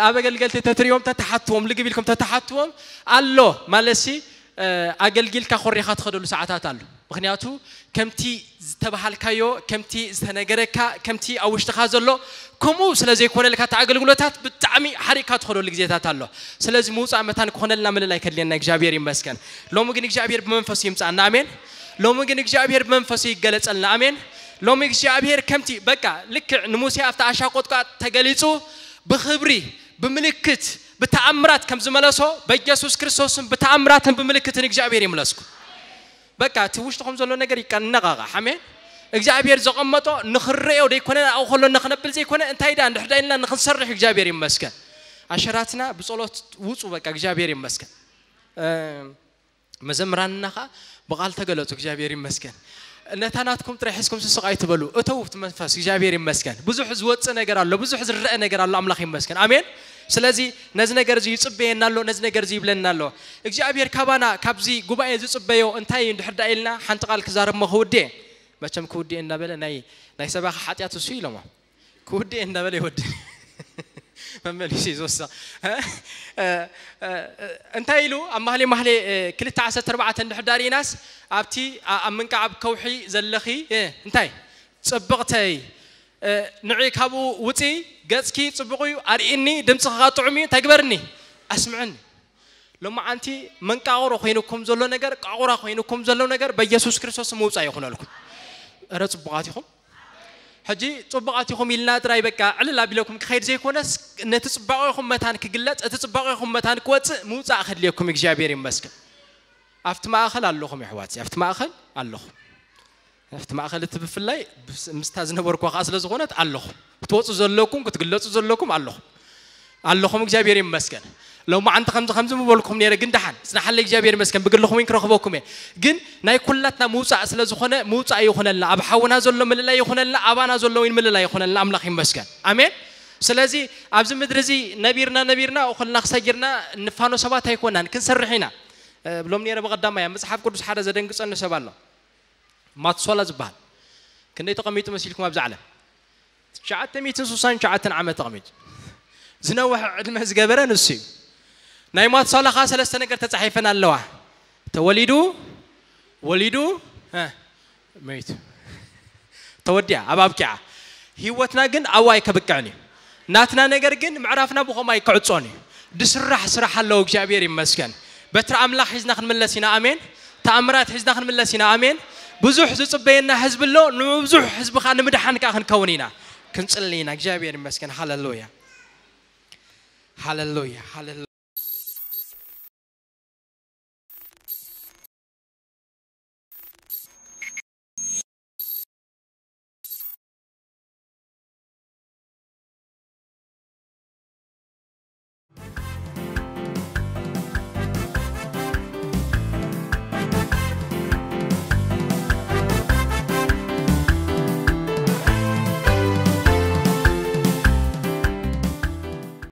ኣብ ኣገልገልቲ ተትሪኦም ተተሓትዎም ልግብ ኢልኩም ተተሓትዎም ኣሎ ማለትሲ፣ ኣገልጊልካ ኮሪኻ ትኸደሉ ሰዓታት ኣሎ። ምክንያቱ ከምቲ ዝተባሃልካዮ፣ ከምቲ ዝተነገረካ፣ ከምቲ ኣብ ውሽጥኻ ዘሎ ከምኡ ስለ ዘይኮነልካ እቲ ኣገልግሎታት ብጣዕሚ ሓሪቕካ ትኸደሉ ግዜታት ኣሎ። ስለዚ ምውፃእ መታን ክኾነልና ምልላይ ከድልየና እግዚኣብሔር ይመስገን። ሎሚ ግን እግዚኣብሔር ብመንፈሱ ይምፃና። ኣሜን። ሎሚ ግን እግዚኣብሔር ብመንፈሱ ይገለፀልና። ኣሜን። ሎሚ እግዚኣብሔር ከምቲ በቃ ልክዕ ንሙሴ ኣብቲ ኣሻቆጥቋጥ ተገሊፁ ብኽብሪ ብምልክት ብተኣምራት ከም ዝመለሶ በኢየሱስ ክርስቶስን ብተኣምራትን ብምልክትን እግዚኣብሔር ይምለስኩ። በቃ እቲ ውሽጥኹም ዘሎ ነገር ይቀነቃቃ። ኣሜን። እግዚኣብሔር ዘቐመጦ ንኽረዮ ደይኮነ ኣብኡ ከሎ ንኽነብል ዘይኮነ እንታይ ዳ እንድሕር ዳ ኢልና ንኽንሰርሕ እግዚኣብሔር ይመስገን። ኣሸራትና ብጸሎት ውጹ በቃ እግዚኣብሔር ይመስገን። መዘምራንና ኸዓ ብቓል ተገለጹ። እግዚኣብሔር ይመስገን። ነታ ናትኩም ጥራይ ሒዝኩም ስስቕ ኣይትበሉ። እተው እቲ መንፈስ እግዚኣብሔር ይመስገን። ብዙሕ ዝወጽእ ነገር ኣሎ፣ ብዙሕ ዝረአ ነገር ኣሎ። ኣምላኽ ይመስገን። ኣሜን። ስለዚ ነዚ ነገር እዚ ይጽበየና ኣሎ፣ ነዚ ነገር እዚ ይብለና ኣሎ። እግዚኣብሔር ካባና ካብዚ ጉባኤ ዝጽበዮ እንታይ እዩ እንድሕር ደኣ ኢልና ሓንቲ ቃል ክዛረብ እሞ ክውድእ። መቸም ክውድእ እናበለ ናይ ናይ ሰባኺ ሓጢኣት እሱ ኢሎሞ። ክውድእ እንዳበለ ይወድእ። መመሊሱ እዩ ዝወስኽ። እንታይ ኢሉ ኣብ ማህሌ ማህሌ ክልተ ዓሰርተ ኣርባዕተ እንድሕር ዳሪኢናስ ኣብቲ ኣብ ምንቃዕ ኣብ ከውሒ ዘለኺ እንታይ ጽብቕተይ ንዒ ካብኡ ውፂ፣ ገፅኪ ጽቡቕ እዩ ኣርእኒ፣ ድምፅኺ ከዓ ጥዑም እዩ እንታይ ግበርኒ ኣስምዕኒ። ሎማዓንቲ መንቃቕሮ ኮይኑኩም ዘሎ ነገር ቃቑራ ኮይኑኩም ዘሎ ነገር በኢየሱስ ክርስቶስ ምውፃእ ይኹነልኩም። እረ ጽቡቓት ኢኹም። ሕጂ ጽቡቓት ኢኹም ኢልና ጥራይ በቃ ዕልል ኣቢለኩም ክኸይድ ዘይኮነስ ነቲ ጽባቐኹም መታን ክግለጽ፣ እቲ ጽባቐኹም መታን ክወጽእ ምውጻእ ከድልየኩም እግዚኣብሔር ይመስገን። ኣብቲ ማእኸል ኣለኹም የሕዋት፣ ኣብቲ ማእኸል ኣለኹም። ኣብቲ ማእኸል እቲ ብፍላይ ምስታ ዝነበርኳ ከዓ ስለ ዝኾነት ኣለኹም። ክትወፁ ዘለኩም ክትግለፁ ዘለኩም ኣለኹም። ኣለኹም እግዚኣብሔር ይመስገን። ሎማዓንቲ ከምዚ ከምዚ ምበልኩም ነይረ ግን ደሓን ፅናሓለይ እግዚኣብሔር ይመስገን ብግልኹም እውን ክረኽበኩም እየ። ግን ናይ ኩላትና ምውፃእ ስለ ዝኾነ ምውፃእ ይኹነልና፣ ኣብ ሓውና ዘሎ ምልላይ ይኹነልና፣ ኣባና ዘሎ እውን ምልላይ ይኹነልና። ኣምላኽ ይመስገን። ኣሜን። ስለዚ ኣብዚ ምድሪ እዚ ነቢርና ነቢርና ኩልና ክሰጊርና ንፋኖ ሰባት ኣይኮናን፣ ክንሰርሕ ኢና። ብሎም ነረ ብቐዳማይ ኣብ መጽሓፍ ቅዱስ ሓደ ዘደንግጸኒ ሰብ ኣሎ። ማትሶላ ዝበሃል ክንደይ ተቐሚጡ መሲልኩም ኣብዛ ዓለም? ትሽዓተ ሚእትን ስሳን ትሽዓተን ዓመት ተቐሚጡ ዝነውሕ ዕድመ ዝገበረ ንሱ እዩ። ናይ ማትሶላ ከዓ ሰለስተ ነገር ተጻሒፈን ኣለዋ። ተወሊዱ፣ ወሊዱ፣ መይቱ። ተወዲያ ኣብ ኣብቂዓ። ህይወትና ግን ኣብኡ ኣይከብቅዕን እዩ። ናትና ነገር ግን ምዕራፍና ብኸምኡ ኣይክዕጾን እዩ። ድስራሕ ስራሕ ኣለዎ። እግዚኣብሔር ይመስገን። በትሪ ኣምላኽ ሒዝና ክንምለስ ኢና። ኣሜን። ተኣምራት ሒዝና ክንምለስ ኢና። ኣሜን። ብዙሕ ዝጽበየና ህዝቢ ኣሎ። ንብዙሕ ህዝቢ ከዓ ንምድሓን ከዓ ክንከውን ኢና። ክንጽሊ ኢና። እግዚኣብሔር ይመስገን። ሃለሉያ፣ ሃለሉያ፣ ሃለሉያ።